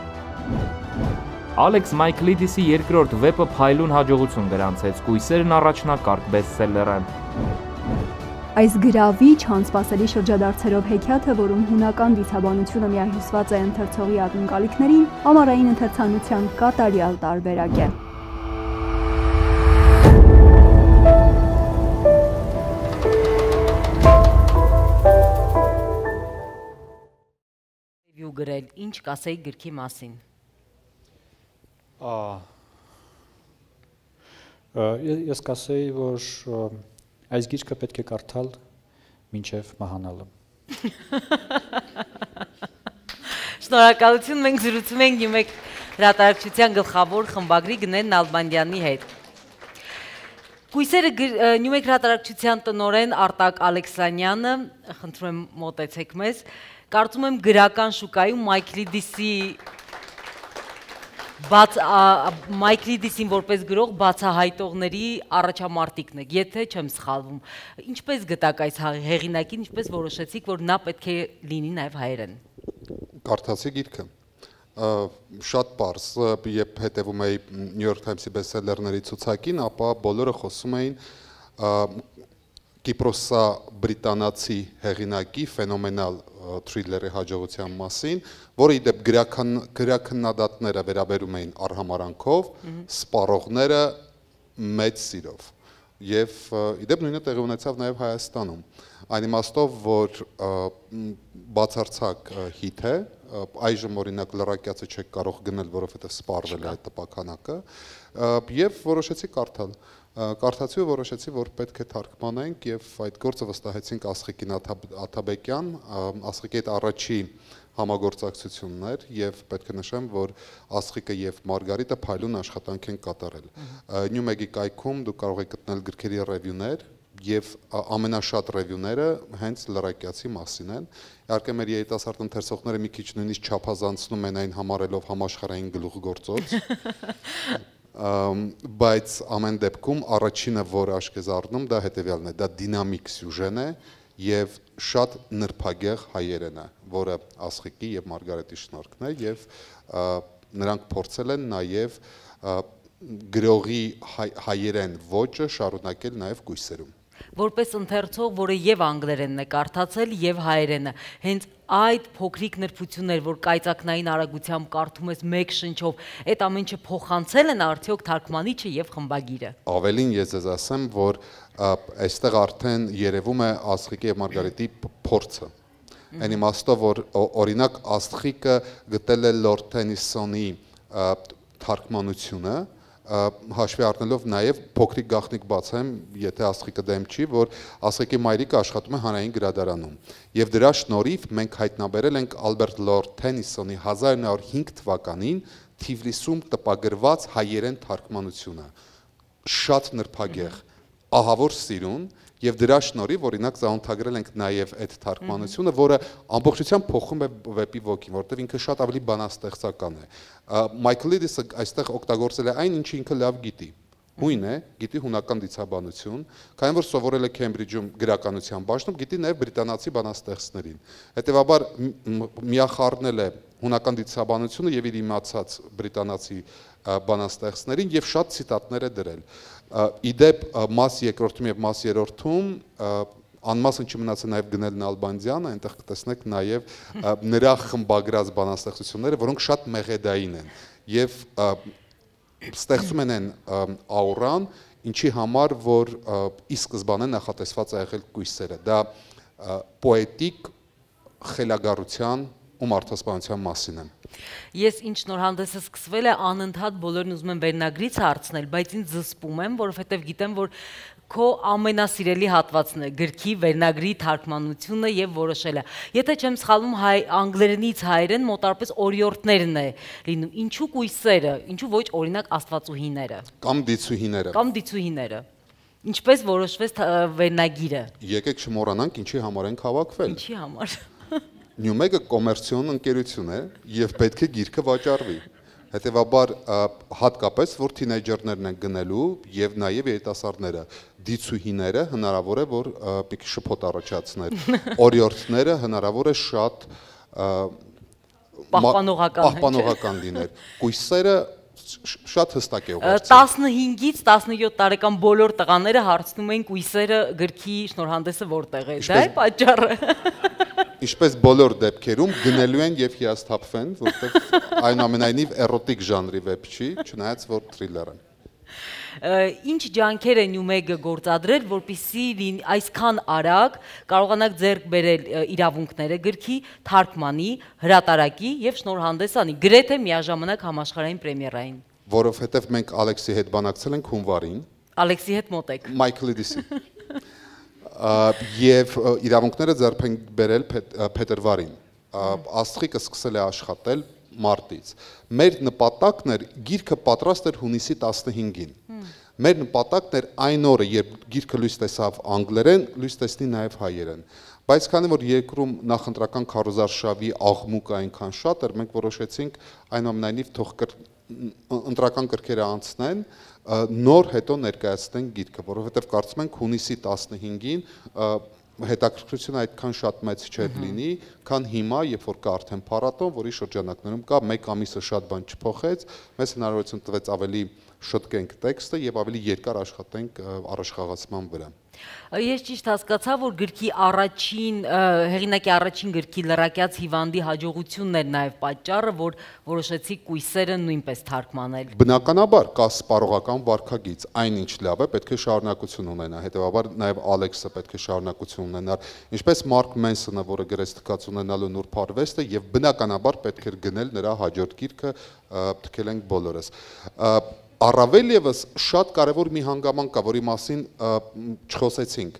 Ալեքս Մայք Լիդիսի երկրորդ վեպը փայլուն հաջողություն գրանցեց, կույսերն առաջնակարգ բեսթսելլեր է։ Այս գրավիչ անսպասելի շրջադարձերով հեքիաթը, որում հունական դիցաբանությունը միահյուսված է ընթերցողի ակնկալիքներին, ամառային ընթերցանության կատարյալ տարբերակ է։ Գրել, ինչ կասեի գրքի մասին։ Ես կասեի, որ այս գիրքը պետք է կարդալ մինչև մահանալը։ Շնորհակալություն, մենք զրուցում ենք Նյումեգ հրատարակչության գլխավոր խմբագրի Գնեն Նալբանդյանի հետ։ Կույսերը Նյումեգ հրատարակչության տնօրեն Արտակ Ալեքսանյանը, խնդրում եմ մոտեցեք մեզ, կարծում եմ գրական շուկայում Մայքլ Դիսին որպես գրող բացահայտողների առաջամարտիկն եք, եթե չեմ սխալվում։ Ինչպես գտաք այս հեղինակին, ինչպես որոշեցիք, որ նա պետք է լինի նաև հայերեն։ Կարդացի գիրքը։ Շատ պարզ, երբ հետևում էի New York Times-ի բեսթսելերների ցուցակին, ապա բոլորը խոսում էին Կիպրոսա-բրիտանացի հեղինակի ֆենոմենալ թրիլերի հաջողության մասին, որը ի դեպ գրաքննադատները վերաբերում էին արհամարանքով, սպառողները մեծ սիրով։ Եվ ի դեպ նույնը տեղի ունեցավ նաև Հայաստանում։ Այն իմաստով, որ բացարձակ հիթ է, այժմ օրինակ լրակյացը չեք կարող գնել, որովհետև սպառվել է այդ տպականակը, եւ որոշեցի կարդալ։ Կարդացի ու որոշեցի, որ պետք է թարգմանենք եւ այդ գործը վստահեցինք Աստղիկին Աթաբեկյան, Աստղիկի հետ առաջի համագործակցությունն էր եւ պետք է նշեմ, որ Աստղիկը եւ Մարգարիտը փայլուն աշխատանք են կատարել։ Նյումեգի կայքում դուք կարող եք գտնել գրքերի ռևյուներ եւ ամենաշատ ռևյուները հենց լրակյացի մասին են։ Իհարկե մեր երիտասարդ ընթերցողները մի քիչ նույնիսկ չափազանցնում են այն համարելով համաշխարհային գլուխգործոց։ Բայց ամեն դեպքում առաջինը, որ աչք է առնում, դա հետևյալն է, դա դինամիկ սյուժեն է եւ շատ նրբագեղ հայերեն է, որը Աստղիկի եւ Մարգարետի շնորհքն է եւ նրանք փորձել են նաեւ գրողի հայերեն ոճը շարունակել նաեւ կույսերում։ Որպես ընթերցող, որը եւ անգլերենն է կարդացել եւ հայերենը, հենց այդ փոքրիկ նրբություններ, որ կայծակնային արագությամբ կարդում ես մեկ շնչով, այդ ամեն ինչը փոխանցել են արդյոք թարգմանիչը եւ խմբագիրը։ Ավելին ես ձեզ ասեմ, որ այստեղ արդեն երևում է Աստղիկի եւ Մարգարետի փորձը։ Այն իմաստով, որ օրինակ Աստղիկը գտել է Լորդ Թենիսոնի թարգմանությունը, հաշվի առնելով նաև փոքրիկ գաղտնիք բացեմ, եթե Աստղիկը դեմ չի, որ Աստղիկի մայրիկը աշխատում է հանրային գրադարանում։ Եվ դրա շնորհիվ մենք հայտնաբերել ենք Ալբերտ Լորդ Թենիսոնի 1905 թվականին Թիֆլիսում տպագրված հայերեն թարգմանությունը։ Շատ նրբագեղ, ահավոր սիրուն, եւ դրա շնորհիվ օրինակ զանոթագրել ենք նաև այդ թարգմանությունը, որը ամբողջությամբ փոխում է վեպի ոգին, որտեղ ինքը շատ ավելի բանաստեղծական է։ Մայքլ Լիդիսը այստեղ օգտագործել է այն, ինչը ինքը լավ գիտի։ Հույն է, գիտի հունական դիցաբանություն, քանի որ սովորել է Քեմբրիջում գրականության բաժնում, գիտի նաև բրիտանացի բանաստեղծներին։ Հետևաբար միախառնել է հունական դիցաբանությունը եւ իր իմացած բրիտանացի բանաստեղծներին եւ շատ ցիտատներ է դրել։ Իդեպ մաս երկրորդում եւ մաս երրորդում անմասն չմնացել նաև Գնել Նալբանդյանը, այնտեղ կտեսնեք նաև նրա խմբագրած բանաստեղծությունները, որոնք շատ մեղեդային են եւ ստեղծում են աուրան, ինչի համար որ ի սկզբանե նախատեսված է եղել կույսերը։ Դա պոետիկ խելագարության ու մարդասպանության մասին է։ Ես ինչ նոր հանդեսը սկսվել է, անընդհատ բոլորն ուզում են վերնագրից հարցնել, բայց ինձ զսպում եմ, որովհետև գիտեմ, որ քո ամենասիրելի հատվածն է գրքի վերնագրի թարգմանությունը եւ որոշելը։ Եթե չեմ սխալվում, անգլերենից հայերեն մոտարպես օրիորդներն է լինում։ Ինչու կույսերը, ինչու ոչ օրինակ աստվածուհիները։ Կամ դիցուհիները։ Կամ դիցուհիները։ Ինչպես որոշվեց վերնագիրը։ Եկեք չմոռանանք ինչի համար ենք հավաքվել։ Ինչի համար։ Նյումեգը կոմերցիոն ընկերություն է եւ պետք է գիրքը վաճառվի։ Հետևաբար հատկապես որ թինեյջերներն են գնելու եւ նաեւ երիտասարդները, դիցուհիները հնարավոր է որ մի քիչ շփոթ առաջացներ։ Օրիորդները հնարավոր է շատ պահպանողական լիներ։ Կույսերը շատ հստակ է ուղղակի։ 15-ից 17 տարեկան բոլոր տղաները հարցնում են կույսերը գրքի շնորհանդեսը որտեղ է։ Դա է պատճառը։ Ինչպես բոլոր դեպքերում գնելու են եւ հիասթափվեն, որովհետեւ այնուամենայնիվ էրոտիկ ժանրի վեբ չի, չնայած որ թրիլեր է։ Ինչ ջանքեր է Նյումեգը գործադրել, որպեսզի այսքան արագ կարողանաք ձեռք բերել իրավունքները գրքի, թարգմանի, հրատարակի եւ շնորհանդեսանի, գրեթե միաժամանակ համաշխարհային պրեմիերային։ Որովհետեւ մենք Ալեքսի հետ բանակցել ենք հունվարին։ Ալեքսի հետ մոտ եք։ Մայքլի Դիսի։ Եվ իրավունքները ձեռք են բերել փետրվարին։ Աստղիկը սկսել է աշխատել մարտից։ Մեր նպատակն էր գիրքը պատրաստ էր հունիսի 15-ին։ Մեր նպատակն էր այն օրը, երբ գիրքը լույս տեսավ անգլերեն, լույս տեսնի նաև հայերեն։ Բայց քանի որ երկրում նախընտրական քարոզարշավի աղմուկը այնքան շատ էր, մենք որոշեցինք այնուամենայնիվ թող ընտրական կրքերը անցնեն, նոր հետո ներկայացնենք գիրքը, որովհետև կարծում ենք հունիսի 15-ին հետաքրքրությունը այդքան շատ մեծ չէր լինի, քան հիմա, երբ որ կա արդեն փառատոն, որի շրջանակներում կա մեկ ամիսը շատ բան չփոխեց, մեզ հնարավորություն տվեց ավելի շտկենք տեքստը եւ ավելի երկար աշխատենք առաջխաղացման վրա։ Ես ճիշտ հասկացա, որ գրքի հեղինակի առաջին գրքի լրակյաց հիվանդի հաջողությունն էր նաև պատճառը, որ որոշեցի կույսերը նույնպես թարգմանել։ Բնականաբար կա սպառողական վարքագիծ, այնինչ լավ է, պետք է շարունակություն ունենա, հետեւաբար նաև Ալեքսը պետք է շարունակություն ունենար, ինչպես Մարկ Մենսոնը, որը գրեց Թքած ունենալու նուրբ արվեստը, եւ բնականաբար պետք էր գնել նրա հաջորդ գիրքը, թքել ենք բոլորս։ Առավել եւս շատ կարևոր մի հանգամանք կա, որի մասին չխոսեցինք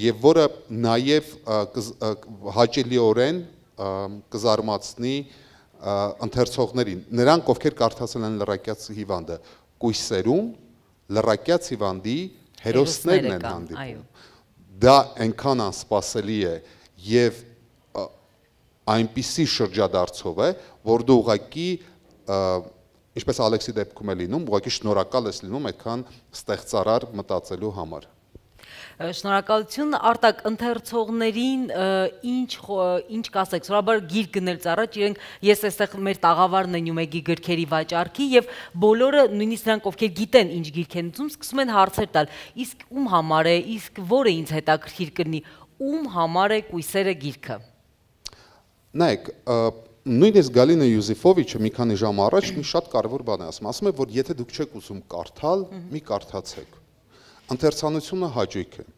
եւ որը նաեւ հաճելիորեն կզարմացնի ընթերցողներին, նրանք ովքեր կարդացել են Լրակյաց հիվանդը, կույսերում Լրակյաց հիվանդի հերոսներն են հանդիպում։ Դա այնքան անսպասելի է եւ այնպիսի շրջադարձով է, որ դու ուղղակի ինչպես Ալեքսի դեպքում է լինում, ուղղակի շնորհակալ ես լինում այդքան ստեղծարար մտածելու համար։ Շնորհակալություն Արտակ, ընթերցողներին ինչ կասեք, սովորաբար գիր գնելուց առաջ ես այստեղ մեր տաղավարն է Նյումեգի գրքերի վաճառքի եւ բոլորը նույնիսկ նրանք ովքեր գիտեն ինչ գիրք են ուզում, սկսում են հարցեր տալ, իսկ ում համար է, իսկ որը ինձ հետաքրքիր կլինի, ում համար է կույսերը գիրքը։ Նայեք, նույնիսկ Գալինա Յուզիֆովիչը մի քանի ժամ առաջ մի շատ կարևոր բան է ասում է, որ եթե դուք չեք ուզում կարդալ, մի կարդացեք։ Ընթերցանությունը հաճույք է,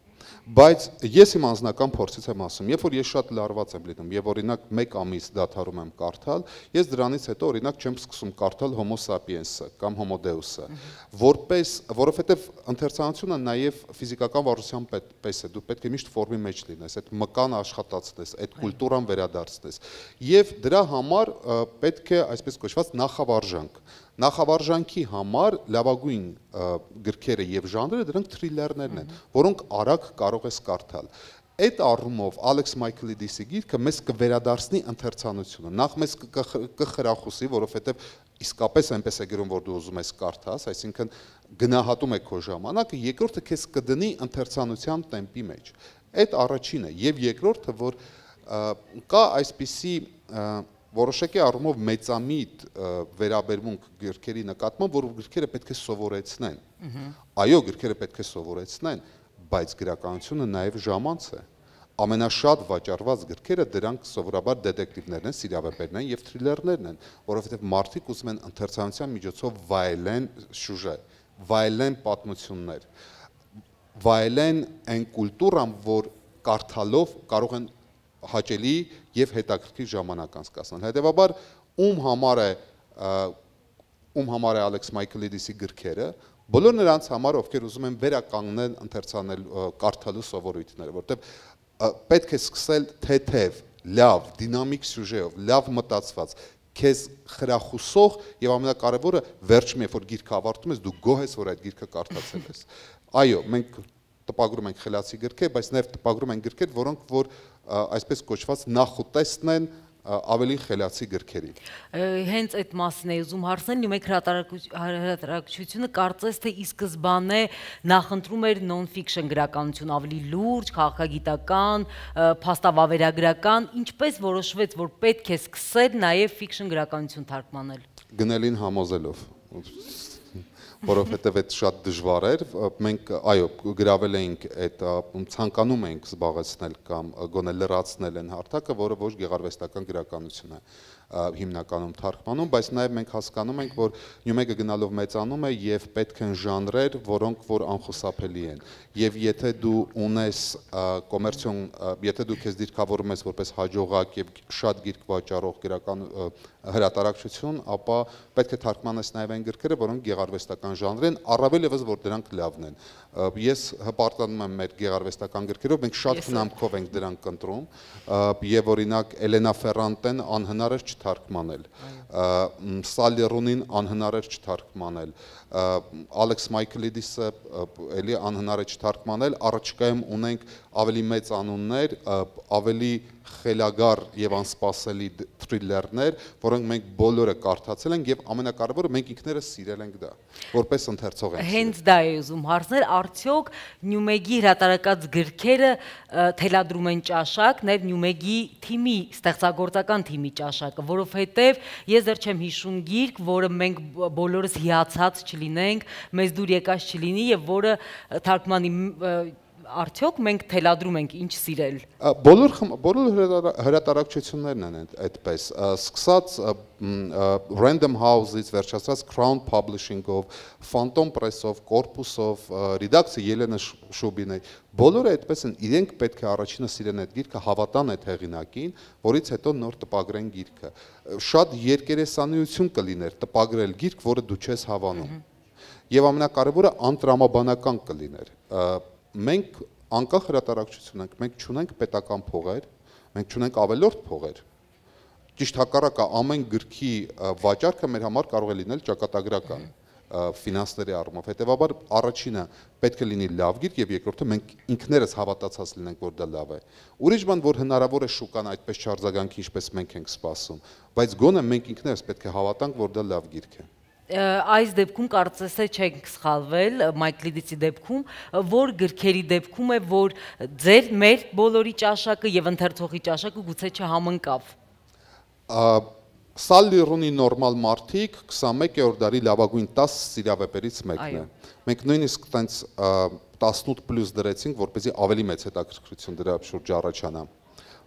բայց ես իմ անձնական փորձից եմ ասում, երբ որ ես շատ լարված եմ լինում եւ օրինակ 1 ամիս դադարում եմ կարդալ, ես դրանից հետո օրինակ չեմ սկսում կարդալ Homo sapiens-ը կամ Homo Deus-ը, որովհետեւ ընթերցանությունը նաեւ ֆիզիկական վարժության պես է, դու պետք է միշտ ֆորմի մեջ լինես, այդ մկան աշխատացնես, այդ կուլտուրան վերադարձնես եւ դրա համար պետք է այսպես կոչված նախավարժանք։ Նախավարժանքի համար լավագույն գրքերը եւ ժանրերը դրանք թրիլերներն են, որոնք արագ կարող ես կարդալ։ Այդ առումով Ալեքս Մայքլիդիսի գիրքը մեզ կվերադարձնի ընթերցանությունը։ Նախ մեզ կխրախուսի, որովհետեւ իսկապես այնպես է գրում, որ դու ուզում ես կարդաս, այսինքն գնահատում է քո ժամանակը, երկրորդը քեզ կդնի ընթերցանության տեմպի մեջ։ Այդ առաջինը, եւ երկրորդը, որ կա այսպիսի որոշակի առումով մեծամիտ վերաբերմունք գրքերի նկատմամբ, որ գրքերը պետք է սովորեցնեն։ Այո, գրքերը պետք է սովորեցնեն, բայց գրականությունը նաև ժամանց է։ Ամենաշատ վաճառված գրքերը դրանք սովորաբար դետեկտիվներն են, սիրիավեպերն են եւ թրիլերներն են, որովհետեւ մարդիկ ուզում են ընթերցանության միջոցով վայելեն սյուժե, վայելեն պատմություններ, վայելեն այն կուլտուրան, որ կարդալով կարող են հաճելի եւ հետաքրքիր ժամանակ անցկացնել։ Հետեւաբար ում համար է Ալեքս Մայքլիդիսի գրքերը, բոլոր նրանց համար, ովքեր ուզում են վերականգնել ընթերցանել կարդալու սովորույթները, որտեղ պետք է սկսել թեթև, լավ, դինամիկ սյուժեով, լավ մտածված, քեզ խրախուսող եւ ամենակարևորը վերջում երբ որ գիրքը ավարտում ես, դու գոհ ես, որ այդ գիրքը կարդացել ես։ Այո, մենք տպագրում ենք խելացի գրքեր, բայց նաև տպագրում ենք գրքեր, որոնք որ այսպես կոչված նախուտեստն են ավելի խելացի գրքերի։ Հենց այդ մասին է ուզում հարցնել, Նյումեգ հրատարակչությունը կարծես թե ի սկզբանե նախընտրում էր non-fiction գրականություն, ավելի լուրջ, քաղաքագիտական, փաստավավերագրական, ինչպես որոշվեց, որ պետք է սկսել նաև fiction գրականություն թարգմանել։ Գնելին համոզելով, որովհետև այդ շատ դժվար էր, մենք այո գրավել էինք այդ ցանկանում էինք զբաղեցնել կամ գոնե լրացնել այն հարթակը, որը ոչ գեղարվեստական գրականություն է հիմնականում թարգմանում, բայց նաև մենք հասկանում ենք, որ Նյումեգը գնալով մեծանում է եւ պետք են ժանրեր, որոնք որ անխուսափելի են։ Եվ եթե դու ունես կոմերցիոն, եթե դու քեզ դիրքավորում ես որպես հաջողակ եւ շատ գիրք վաճառող գրական հրատարակչություն, ապա պետք է թարգմանես նաև այն գրքերը, որոնք գեղարվեստական ժանր են, առավել եւս որ դրանք լավն են։ Ես հպարտանում եմ մեր գեղարվեստական գրքերով, մենք շատ խնամքով ենք դրանք ընտրում, եւ օրինակ Էլենա Ֆերրանտեն անհնար էր չթարգմանել, Սալի Ռունին անհնար էր չթարգմանել, Ալեքս Մայքլիդիսը էլի անհնար է չթարգմանել, առաջիկայում ունենք ավելի մեծ անուններ, ավելի խելագար եւ անսպասելի թրիլերներ, որոնք մենք բոլորը կարդացել ենք եւ ամենակարևորը մենք ինքներս սիրել ենք դա, որպես ընթերցող ենք։ Հենց դա է ուզում հարցնել, արդյոք Նյումեգի հրատարակած գրքերը թելադրում են ճաշակ, նաեւ Նյումեգի թիմի, ստեղծագործական թիմի ճաշակը, որովհետեւ ես դեռ չեմ հիշում գիրք, որը մենք բոլորս հիացած չլինենք, մեզ դուր եկած չլինի եւ որը թարգմանի արդյոք մենք թելադրում ենք ինչ սիրել։ Բոլոր հրատարակչություններն են այդպես, սկսած Random House-ից վերջացած Crown Publishing-ով, Phantom Press-ով, Corpus-ով, ռեդակցիա Ելենա Շուբինի, բոլորը այդպես են, իրենք պետք է առաջինը սիրեն այդ գիրքը, հավատան այդ հեղինակին, որից հետո նոր տպագրեն գիրքը։ Շատ երկերեսանություն կլիներ տպագրել գիրք, որը դու չես հավանում։ Եվ ամենակարևորը անտրամաբանական կլիներ։ Մենք անկախ հրատարակչություն ենք, մենք չունենք պետական փողեր, մենք չունենք ավելորդ փողեր։ Ճիշտ հակառակը, ամեն գրքի վաճառքը մեր համար կարող է լինել ճակատագրական ֆինանսների առումով։ Հետևաբար առաջինը պետք է լինի լավ գիրք եւ երկրորդը մենք ինքներս հավատացած լինենք, որ դա լավ է։ Ուրիշ բան, որ հնարավոր է շուկան այդպես չարձագանքի, ինչպես մենք ենք սպասում, բայց գոնե մենք ինքներս պետք է հավատանք, որ դա լավ գիրք է։ Այս դեպքում կարծես թե չենք սխալվել Մայքլիդիսի դեպքում, որ գրքերի դեպքում է, որ մեր բոլորի ճաշակը եւ ընթերցողի ճաշակը գուցե չհամընկավ։ Սալի Ռունի նորմալ մարդիկ 21-րդ դարի լավագույն 10 սիրավեպերից մեկն է։ Մենք նույնիսկ տենց 18+ դրեցինք, որպեսզի ավելի մեծ հետաքրքրություն դրա շուրջ առաջանա։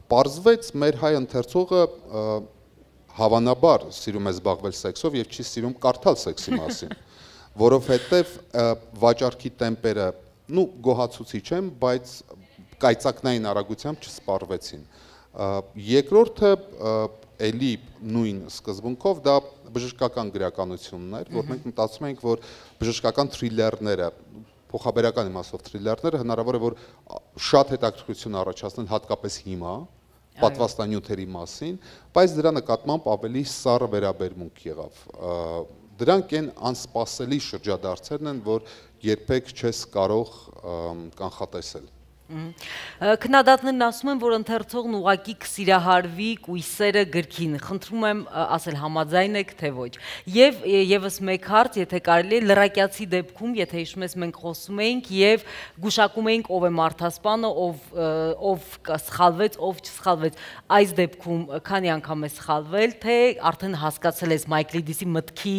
Պարզվեց մեր հայ ընթերցողը հավանաբար սիրում է զբաղվել սեքսով եւ չի սիրում կարդալ սեքսի մասին, որովհետեւ վաճառքի տեմպերը, գոհացուցիչ են, բայց կայծակնային արագությամբ չսպառվեցին։ Երկրորդը էլի նույն սկզբունքով դա բժշկական գրականությունն էր, որ մենք մտածում ենք, որ բժշկական թրիլերները, փոխաբերական իմաստով թրիլերները հնարավոր է որ շատ հետաքրքրություն առաջացնեն հատկապես հիմա պատվաստանյութերի մասին, բայց դրա նկատմամբ ավելի սառը վերաբերմունք եղավ։ Դրանք են անսպասելի շրջադարձերն են, որ երբեք չես կարող կանխատեսել։ Քննադատներն ասում են, որ ընթերցողն ուղղակի կսիրահարվի կույսերը գրքին, խնդրում եմ ասել համաձայն եք թե ոչ։ Եվ եւս մեկ հարց, եթե կարելի է, լրակյացի դեպքում, եթե հիշում ես, մենք խոսում էինք եւ գուշակում էինք ով է մարդասպանը, ով սխալվեց, ով չսխալվեց։ Այս դեպքում քանի անգամ է սխալվել, թե արդեն հասկացել ես Մայքլիդիսի մտքի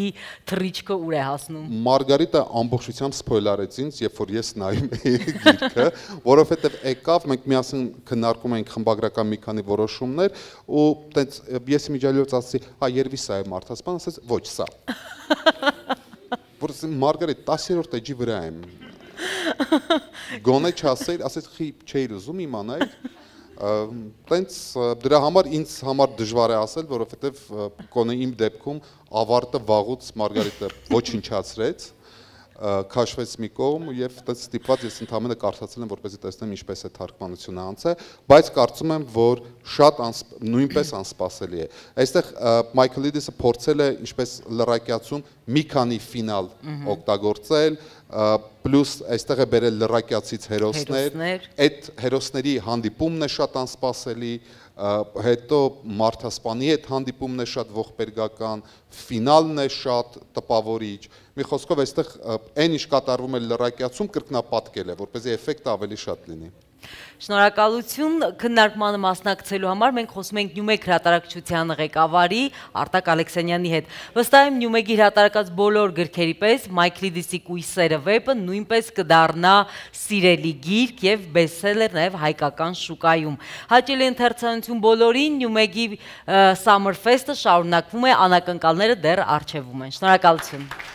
թռիչքը ուր է հասնում։ Մարգարիտը ամբողջությամբ սփոյլարեց ինձ, երբ որ ես նայում էի գիրքը, որովհետև եկավ, մենք միասին քննարկում էինք խմբագրական մի քանի որոշումներ ու տենց ես իմիջիալից ասացի, հա երևի սա է մարդասպան, ասաց ոչ սա։ Որ Մարգարիտ 10-րդ էջի վրա եմ։ Գոնե չասեի, ասեց խի չէի ուզում իմանալ։ Տենց դրա համար ինձ համար դժվար է ասել, որովհետև կոնե իմ դեպքում ավարտը վաղուց Մարգարիտը ոչնչացրեց, քաշվեց մի կողմ եւ այդպես ստիպված ես ընդհանրապես կարդացել եմ, որպեսզի տեսնեմ ինչպես է թարգմանությունը անցել, բայց կարծում եմ, որ շատ նույնպես անսպասելի է։ Այստեղ Մայքլիդիսը փորձել է ինչպես լրակյացում մի քանի ֆինալ օգտագործել, պլյուս այստեղ է բերել լրակյացից հերոսներ, այդ հերոսների հանդիպումն է շատ անսպասելի, հետո մարդասպանի հետ հանդիպումն է շատ ողբերգական, ֆինալն է շատ տպավորիչ։ Մի խոսքով այստեղ այն ինչ կատարվում է լրակյացում կրկնապատկել է, որպեսզի էֆեկտը ավելի շատ լինի։ Շնորհակալություն քննարկմանը մասնակցելու համար մենք խոսում ենք Նյումեգ հրատարակչության ղեկավարի Արտակ Ալեքսանյանի հետ։ Վստահ եմ Նյումեգի հրատարակած բոլոր գրքերի պես Մայքլիդիսի Կույսերը վեպը նույնպես կդառնա սիրելի գիրք եւ բեսթսելեր նաեւ հայկական շուկայում։ Հաճելի ընթերցանություն բոլորին, Նյումեգի Summer Fest-ը շարունակվում է, անակնկալները դեռ առջևում են։ Շնորհակալություն։